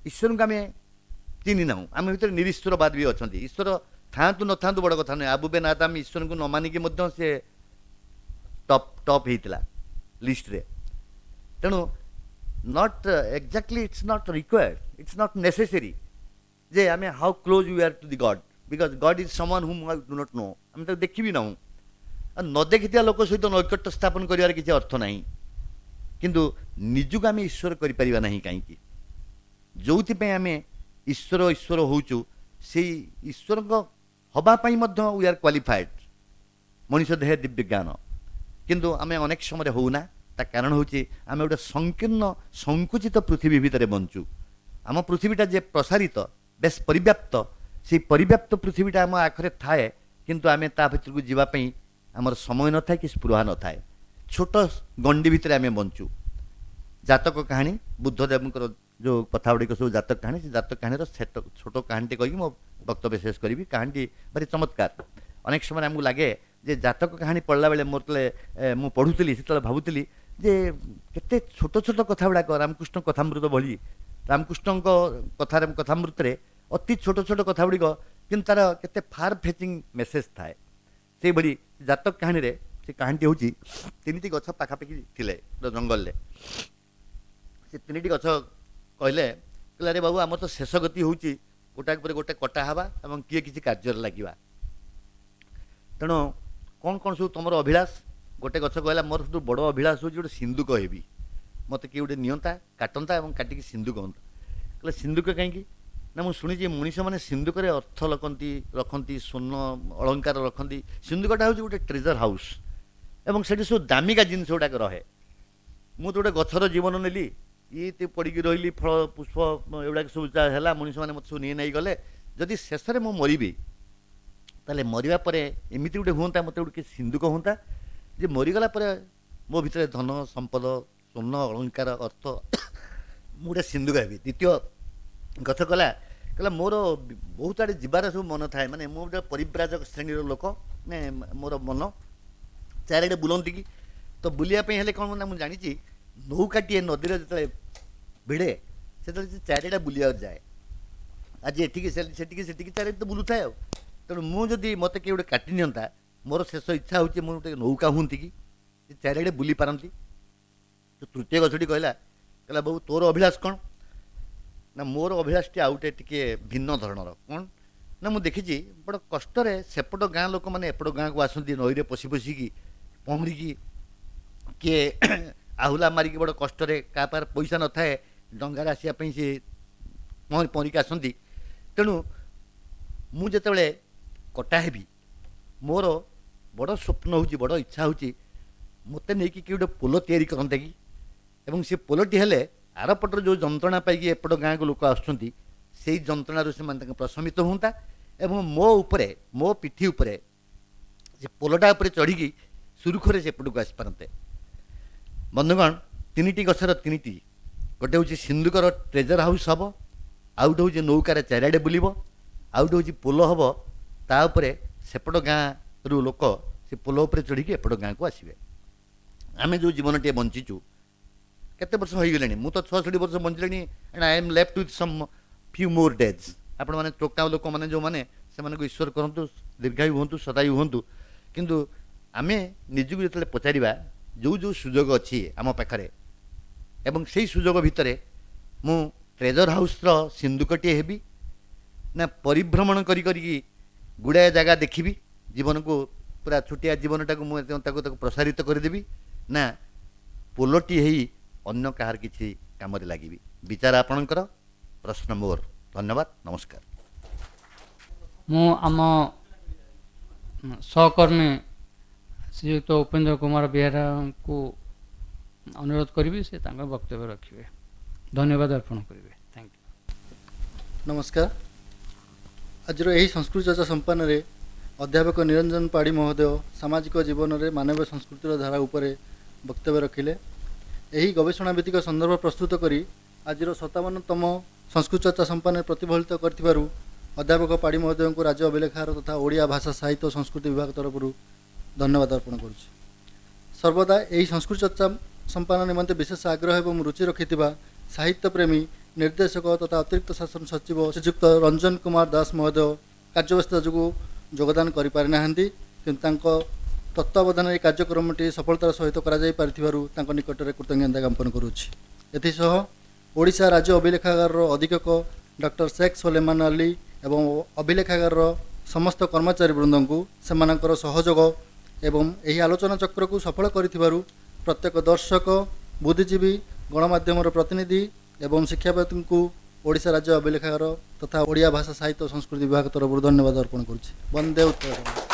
[SPEAKER 2] ଈଶ୍ୱରଙ୍କୁ ଆମେ ଚିହ୍ନି ନାହୁଁ, ଆମ ଭିତରେ ନିରୀଶ୍ୱରବାଦ ବି ଅଛନ୍ତି। ଈଶ୍ୱର ଥାଆନ୍ତୁ ନଥାନ୍ତୁ ବଡ଼ କଥା ନୁହେଁ। ଆବୁ ବେନ୍ ଆଦାମ ଈଶ୍ୱରଙ୍କୁ ନ ମାନିକି ମଧ୍ୟ ସେ ଟପ୍ ହେଇଥିଲା ଲିଷ୍ଟରେ। ତେଣୁ not exactly, it's not required, it's not necessary ଯେ ଆମେ how close we are to the God, because God is someone whom I do not know. ଆମେ ତାକୁ ଦେଖିବି ନାହୁଁ, ଆଉ ନ ଦେଖିଥିବା ଲୋକ ସହିତ ନୈକଟ୍ୟ ସ୍ଥାପନ କରିବାର କିଛି ଅର୍ଥ ନାହିଁ। କିନ୍ତୁ ନିଜକୁ ଆମେ ଈଶ୍ୱର କରିପାରିବା ନାହିଁ କାହିଁକି? ଯେଉଁଥିପାଇଁ ଆମେ ଈଶ୍ୱର ଈଶ୍ୱର ହେଉଛୁ, ସେଇ ଈଶ୍ୱରଙ୍କ ହେବା ପାଇଁ ମଧ୍ୟ we are qualified. ମଣିଷ ଦେହ ଦିବ୍ୟ ଜ୍ଞାନ, କିନ୍ତୁ ଆମେ ଅନେକ ସମୟରେ ହେଉନା। ତା କାରଣ ହେଉଛି ଆମେ ଗୋଟେ ସଂକୀର୍ଣ୍ଣ ସଂକୁଚିତ ପୃଥିବୀ ଭିତରେ ବଞ୍ଚୁ। ଆମ ପୃଥିବୀଟା ଯେ ପ୍ରସାରିତ, ବେଶ ପରିବ୍ୟାପ୍ତ, ସେଇ ପରିବ୍ୟାପ୍ତ ପୃଥିବୀଟା ଆମ ଆଖରେ ଥାଏ, କିନ୍ତୁ ଆମେ ତା ଭିତରକୁ ଯିବା ପାଇଁ ଆମର ସମୟ ନଥାଏ କି ସ୍ପୃହା ନଥାଏ। ଛୋଟ ଗଣ୍ଡି ଭିତରେ ଆମେ ବଞ୍ଚୁ। ଜାତକ କାହାଣୀ, ବୁଦ୍ଧଦେବଙ୍କର ଯେଉଁ କଥା ଗୁଡ଼ିକ ସବୁ ଜାତକ କାହାଣୀ, ସେ ଜାତକ କାହାଣୀର ଛୋଟ କାହାଣୀଟେ କହିକି ମୋ ବକ୍ତବ୍ୟ ଶେଷ କରିବି। କାହାଣୀଟି ଭାରି ଚମତ୍କାର। ଅନେକ ସମୟରେ ଆମକୁ ଲାଗେ ଯେ ଜାତକ କାହାଣୀ ପଢ଼ିଲା ବେଳେ ମୋର ଯେତେବେଳେ ମୁଁ ପଢ଼ୁଥିଲି ସେତେବେଳେ ଭାବୁଥିଲି ଯେ କେତେ ଛୋଟ ଛୋଟ କଥା ଗୁଡ଼ାକ ରାମକୃଷ୍ଣ କଥାମୃତ ଭଳି, ରାମକୃଷ୍ଣଙ୍କ କଥାରେ କଥାମୃତରେ ଅତି ଛୋଟ ଛୋଟ କଥା ଗୁଡ଼ିକ, କିନ୍ତୁ ତାର କେତେ ଫାର୍ ଫେଚିଂ ମେସେଜ୍ ଥାଏ। ସେଇଭଳି ଜାତକ କାହାଣୀରେ ସେ କାହାଣୀଟି ହେଉଛି 3ଟି ଗଛ ପାଖାପାଖି ଥିଲେ ଜଙ୍ଗଲରେ। ସେ 3ଟି ଗଛ କହିଲେ, କହିଲେ ଆରେ ବାବୁ ଆମର ତ ଶେଷ ଗତି ହେଉଛି ଗୋଟାକ ପରେ ଗୋଟେ କଟା ହେବା ଏବଂ କିଏ କିଛି କାର୍ଯ୍ୟରେ ଲାଗିବା। ତେଣୁ କ'ଣ କ'ଣ ସବୁ ତୁମର ଅଭିଳାଷ? ଗୋଟେ ଗଛ କହିଲା ମୋର ସବୁଠୁ ବଡ଼ ଅଭିଳାଷ ହେଉଛି ଗୋଟେ ସିନ୍ଦୁକ ହେବି, ମୋତେ କିଏ ଗୋଟେ ନିଅନ୍ତା, କାଟନ୍ତା ଏବଂ କାଟିକି ସିନ୍ଦୁକ ହୁଅନ୍ତା। କହିଲେ ସିନ୍ଦୁକ କାହିଁକି? ନା ମୁଁ ଶୁଣିଛି ମଣିଷମାନେ ସିନ୍ଦୁକରେ ଅର୍ଥ ରଖନ୍ତି, ସ୍ୱର୍ଣ୍ଣ ଅଳଙ୍କାର ରଖନ୍ତି। ସିନ୍ଦୁକଟା ହେଉଛି ଗୋଟେ ଟ୍ରେଜର ହାଉସ୍ ଏବଂ ସେଠି ସବୁ ଦାମିକା ଜିନିଷ ଗୁଡ଼ାକ ରହେ। ମୁଁ ତ ଗୋଟେ ଗଛର ଜୀବନ ନେଲି, ଇଏ ପଡ଼ିକି ରହିଲି, ଫଳ ପୁଷ୍ପ ଏଗୁଡ଼ାକ ସବୁ ଯାହା ହେଲା ମଣିଷମାନେ ମୋତେ ସବୁ ନିଏ ନେଇଗଲେ। ଯଦି ଶେଷରେ ମୁଁ ମରିବି, ତାହେଲେ ମରିବା ପରେ ଏମିତି ଗୋଟେ ହୁଅନ୍ତା, ମୋତେ ଗୋଟେ କିଛି ସିନ୍ଧୁକ ହୁଅନ୍ତା ଯେ ମରିଗଲା ପରେ ମୋ ଭିତରେ ଧନ ସମ୍ପଦ ସ୍ୱର୍ଣ୍ଣ ଅଳଙ୍କାର ଅର୍ଥ, ମୁଁ ଗୋଟେ ସିନ୍ଧୁକ ହେବି। ଦ୍ୱିତୀୟ ଗଛ କହିଲା, କହିଲା ମୋର ବହୁତ ଆଡ଼େ ଯିବାର ସବୁ ମନ ଥାଏ, ମାନେ ମୁଁ ଗୋଟେ ପରିବ୍ରାଜକ ଶ୍ରେଣୀର ଲୋକ, ମାନେ ମୋର ମନ ଚାରିଆଡ଼େ ବୁଲନ୍ତି କି, ତ ବୁଲିବା ପାଇଁ ହେଲେ କ'ଣ ନା ମୁଁ ଜାଣିଛି ନୌକାଟିଏ ନଦୀରେ ଯେତେବେଳେ ଭିଡ଼େ ସେତେବେଳେ ସେ ଚାରିଆଡ଼େ ବୁଲିବାକୁ ଯାଏ, ଆଜି ଏଠିକି ସେଠିକି ସେଠିକି ଚାରିଆଡ଼େ ତ ବୁଲୁଥାଏ। ଆଉ ତେଣୁ ମୁଁ ଯଦି ମୋତେ କିଏ ଗୋଟେ କାଟି ନିଅନ୍ତା, ମୋର ଶେଷ ଇଚ୍ଛା ହେଉଛି ମୁଁ ଗୋଟେ ନୌକା ହୁଅନ୍ତି କି ସେ ଚାରିଆଡ଼େ ବୁଲି ପାରନ୍ତି। ତ ତୃତୀୟ ଗଛଟି କହିଲା, କହିଲା ବାବୁ ତୋର ଅଭିଳାଷ କ'ଣ? ନା ମୋର ଅଭିଳାଷଟି ଆଉ ଗୋଟେ ଟିକିଏ ଭିନ୍ନ ଧରଣର। କ'ଣ ନା ମୁଁ ଦେଖିଛି ବଡ଼ କଷ୍ଟରେ ସେପଟ ଗାଁ ଲୋକମାନେ ଏପଟ ଗାଁକୁ ଆସନ୍ତି, ନଈରେ ପଶି ପଶିକି ପହଁରିକି, କିଏ ଆହୁଲା ମାରିକି ବଡ଼ କଷ୍ଟରେ, କାହା ପାଖରେ ପଇସା ନଥାଏ ଡଙ୍ଗାରେ ଆସିବା ପାଇଁ, ସେ ପହଁରି ପହଁରିକି ଆସନ୍ତି। ତେଣୁ ମୁଁ ଯେତେବେଳେ କଟା ହେବି, ମୋର ବଡ଼ ସ୍ୱପ୍ନ ହେଉଛି, ବଡ଼ ଇଚ୍ଛା ହେଉଛି ମୋତେ ନେଇକି କିଏ ଗୋଟେ ପୋଲ ତିଆରି କରନ୍ତା କି, ଏବଂ ସେ ପୋଲଟି ହେଲେ ଆରପଟର ଯେଉଁ ଯନ୍ତ୍ରଣା ପାଇକି ଏପଟ ଗାଁକୁ ଲୋକ ଆସୁଛନ୍ତି ସେଇ ଯନ୍ତ୍ରଣାରୁ ସେମାନେ ତାଙ୍କ ପ୍ରଶମିତ ହୁଅନ୍ତା, ଏବଂ ମୋ ଉପରେ, ମୋ ପିଠି ଉପରେ ସେ ପୋଲଟା ଉପରେ ଚଢ଼ିକି ସୁରୁଖୁରୁରେ ସେପଟକୁ ଆସିପାରନ୍ତେ। ବନ୍ଧୁଗଣ, ତିନିଟି ଗଛର ତିନିଟି, ଗୋଟେ ହେଉଛି ସିନ୍ଧୁକର ଟ୍ରେଜର ହାଉସ୍ ହେବ, ଆଉ ଗୋଟେ ହେଉଛି ନୌକାରେ ଚାରିଆଡ଼େ ବୁଲିବ, ଆଉ ଗୋଟେ ହେଉଛି ପୋଲ ହେବ, ତା ଉପରେ ସେପଟ ଗାଁରୁ ଲୋକ ସେ ପୋଲ ଉପରେ ଚଢ଼ିକି ଏପଟ ଗାଁକୁ ଆସିବେ। ଆମେ ଯେଉଁ ଜୀବନଟିଏ ବଞ୍ଚିଛୁ, କେତେ ବର୍ଷ ହୋଇଗଲାଣି, ମୁଁ ତ 66 ବର୍ଷ ବଞ୍ଚିଲିଣି, and I am left with some few more days. ଆପଣମାନେ ଟୋକା ଲୋକମାନେ ଯେଉଁମାନେ, ସେମାନଙ୍କୁ ଈଶ୍ୱର କରନ୍ତୁ ଦୀର୍ଘାୟୁ ହୁଅନ୍ତୁ, ସଦାୟୁ ହୁଅନ୍ତୁ। କିନ୍ତୁ ଆମେ ନିଜକୁ ଯେତେବେଳେ ପଚାରିବା ଯେଉଁ ଯେଉଁ ସୁଯୋଗ ଅଛି ଆମ ପାଖରେ, ଏବଂ ସେଇ ସୁଯୋଗ ଭିତରେ ମୁଁ ଟ୍ରେଜର ହାଉସ୍ର ସିନ୍ଧୁକଟିଏ ହେବି ନା ପରିଭ୍ରମଣ କରି କରିକି ଗୁଡ଼ାଏ ଜାଗା ଦେଖିବି, ଜୀବନକୁ ପୁରା ଛୋଟିଆ ଜୀବନଟାକୁ ମୁଁ ତାକୁ ତାକୁ ପ୍ରସାରିତ କରିଦେବି, ନା ପୋଲଟି ହେଇ ଅନ୍ୟ କାହାର କିଛି କାମରେ ଲାଗିବି? ବିଚାର ଆପଣଙ୍କର, ପ୍ରଶ୍ନ ମୋର। ଧନ୍ୟବାଦ, ନମସ୍କାର।
[SPEAKER 1] ମୁଁ ଆମ ସହକର୍ମୀ ଶ୍ରୀଯୁକ୍ତ ଉପେନ୍ଦ୍ର କୁମାର ବେହେରାଙ୍କୁ ଅନୁରୋଧ କରିବି ସେ ତାଙ୍କ ବକ୍ତବ୍ୟ ରଖିବେ। ଧନ୍ୟବାଦ ଅର୍ପଣ କରିବେ। Thank you.
[SPEAKER 3] ନମସ୍କାର। ଆଜିର ଏହି ସଂସ୍କୃତି ଚର୍ଚ୍ଚା ସମ୍ପାନରେ ଅଧ୍ୟାପକ ନିରଞ୍ଜନ ପାଢ଼ୀ ମହୋଦୟ ସାମାଜିକ ଜୀବନରେ ମାନବୀୟ ସଂସ୍କୃତିର ଧାରା ଉପରେ ବକ୍ତବ୍ୟ ରଖିଲେ। ଏହି ଗବେଷଣା ଭିତ୍ତିକ ସନ୍ଦର୍ଭ ପ୍ରସ୍ତୁତ କରି ଆଜିର 57ତମ ସଂସ୍କୃତି ଚର୍ଚ୍ଚା ସମ୍ପାନରେ ପ୍ରତିଫଳିତ କରିଥିବାରୁ ଅଧ୍ୟାପକ ପାଢ଼ୀ ମହୋଦୟଙ୍କୁ ରାଜ୍ୟ ଅଭିଲେଖାଗାର ତଥା ଓଡ଼ିଆ ଭାଷା ସାହିତ୍ୟ ଓ ସଂସ୍କୃତି ବିଭାଗ ତରଫରୁ ଧନ୍ୟବାଦ ଅର୍ପଣ କରୁଛି। ସର୍ବଦା ଏହି ସଂସ୍କୃତି ଚର୍ଚ୍ଚା ସମ୍ପାଦନ ନିମନ୍ତେ ବିଶେଷ ଆଗ୍ରହ ଏବଂ ରୁଚି ରଖିଥିବା ସାହିତ୍ୟ ପ୍ରେମୀ ନିର୍ଦ୍ଦେଶକ ତଥା ଅତିରିକ୍ତ ଶାସନ ସଚିବ ଶ୍ରୀଯୁକ୍ତ ରଞ୍ଜନ କୁମାର ଦାସ ମହୋଦୟ କାର୍ଯ୍ୟବ୍ୟସ୍ତତା ଯୋଗୁଁ ଯୋଗଦାନ କରିପାରିନାହାନ୍ତି, କିନ୍ତୁ ତାଙ୍କ ତତ୍ତ୍ୱାବଧାନରେ ଏହି କାର୍ଯ୍ୟକ୍ରମଟି ସଫଳତାର ସହିତ କରାଯାଇ ପାରିଥିବାରୁ ତାଙ୍କ ନିକଟରେ କୃତଜ୍ଞତା ଜ୍ଞାପନ କରୁଛି। ଏଥିସହ ଓଡ଼ିଶା ରାଜ୍ୟ ଅଭିଲେଖାଗାରର ଅଧୀକ୍ଷକ ଡକ୍ଟର ଶେଖ୍ ସୋଲେମାନ ଅଲି ଏବଂ ଅଭିଲେଖାଗାରର ସମସ୍ତ କର୍ମଚାରୀ ବୃନ୍ଦଙ୍କୁ ସେମାନଙ୍କର ସହଯୋଗ ଏବଂ ଏହି ଆଲୋଚନା ଚକ୍ରକୁ ସଫଳ କରିଥିବାରୁ ପ୍ରତ୍ୟେକ ଦର୍ଶକ, ବୁଦ୍ଧିଜୀବୀ, ଗଣମାଧ୍ୟମର ପ୍ରତିନିଧି ଏବଂ ଶିକ୍ଷାବିତ୍ଙ୍କୁ ଓଡ଼ିଶା ରାଜ୍ୟ ଅଭିଲେଖାଗାର ତଥା ଓଡ଼ିଆ ଭାଷା ସାହିତ୍ୟ ଓ ସଂସ୍କୃତି ବିଭାଗ ତରଫରୁ ଧନ୍ୟବାଦ ଅର୍ପଣ କରୁଛି। ବନ୍ଦେ ଉତ୍କଳ।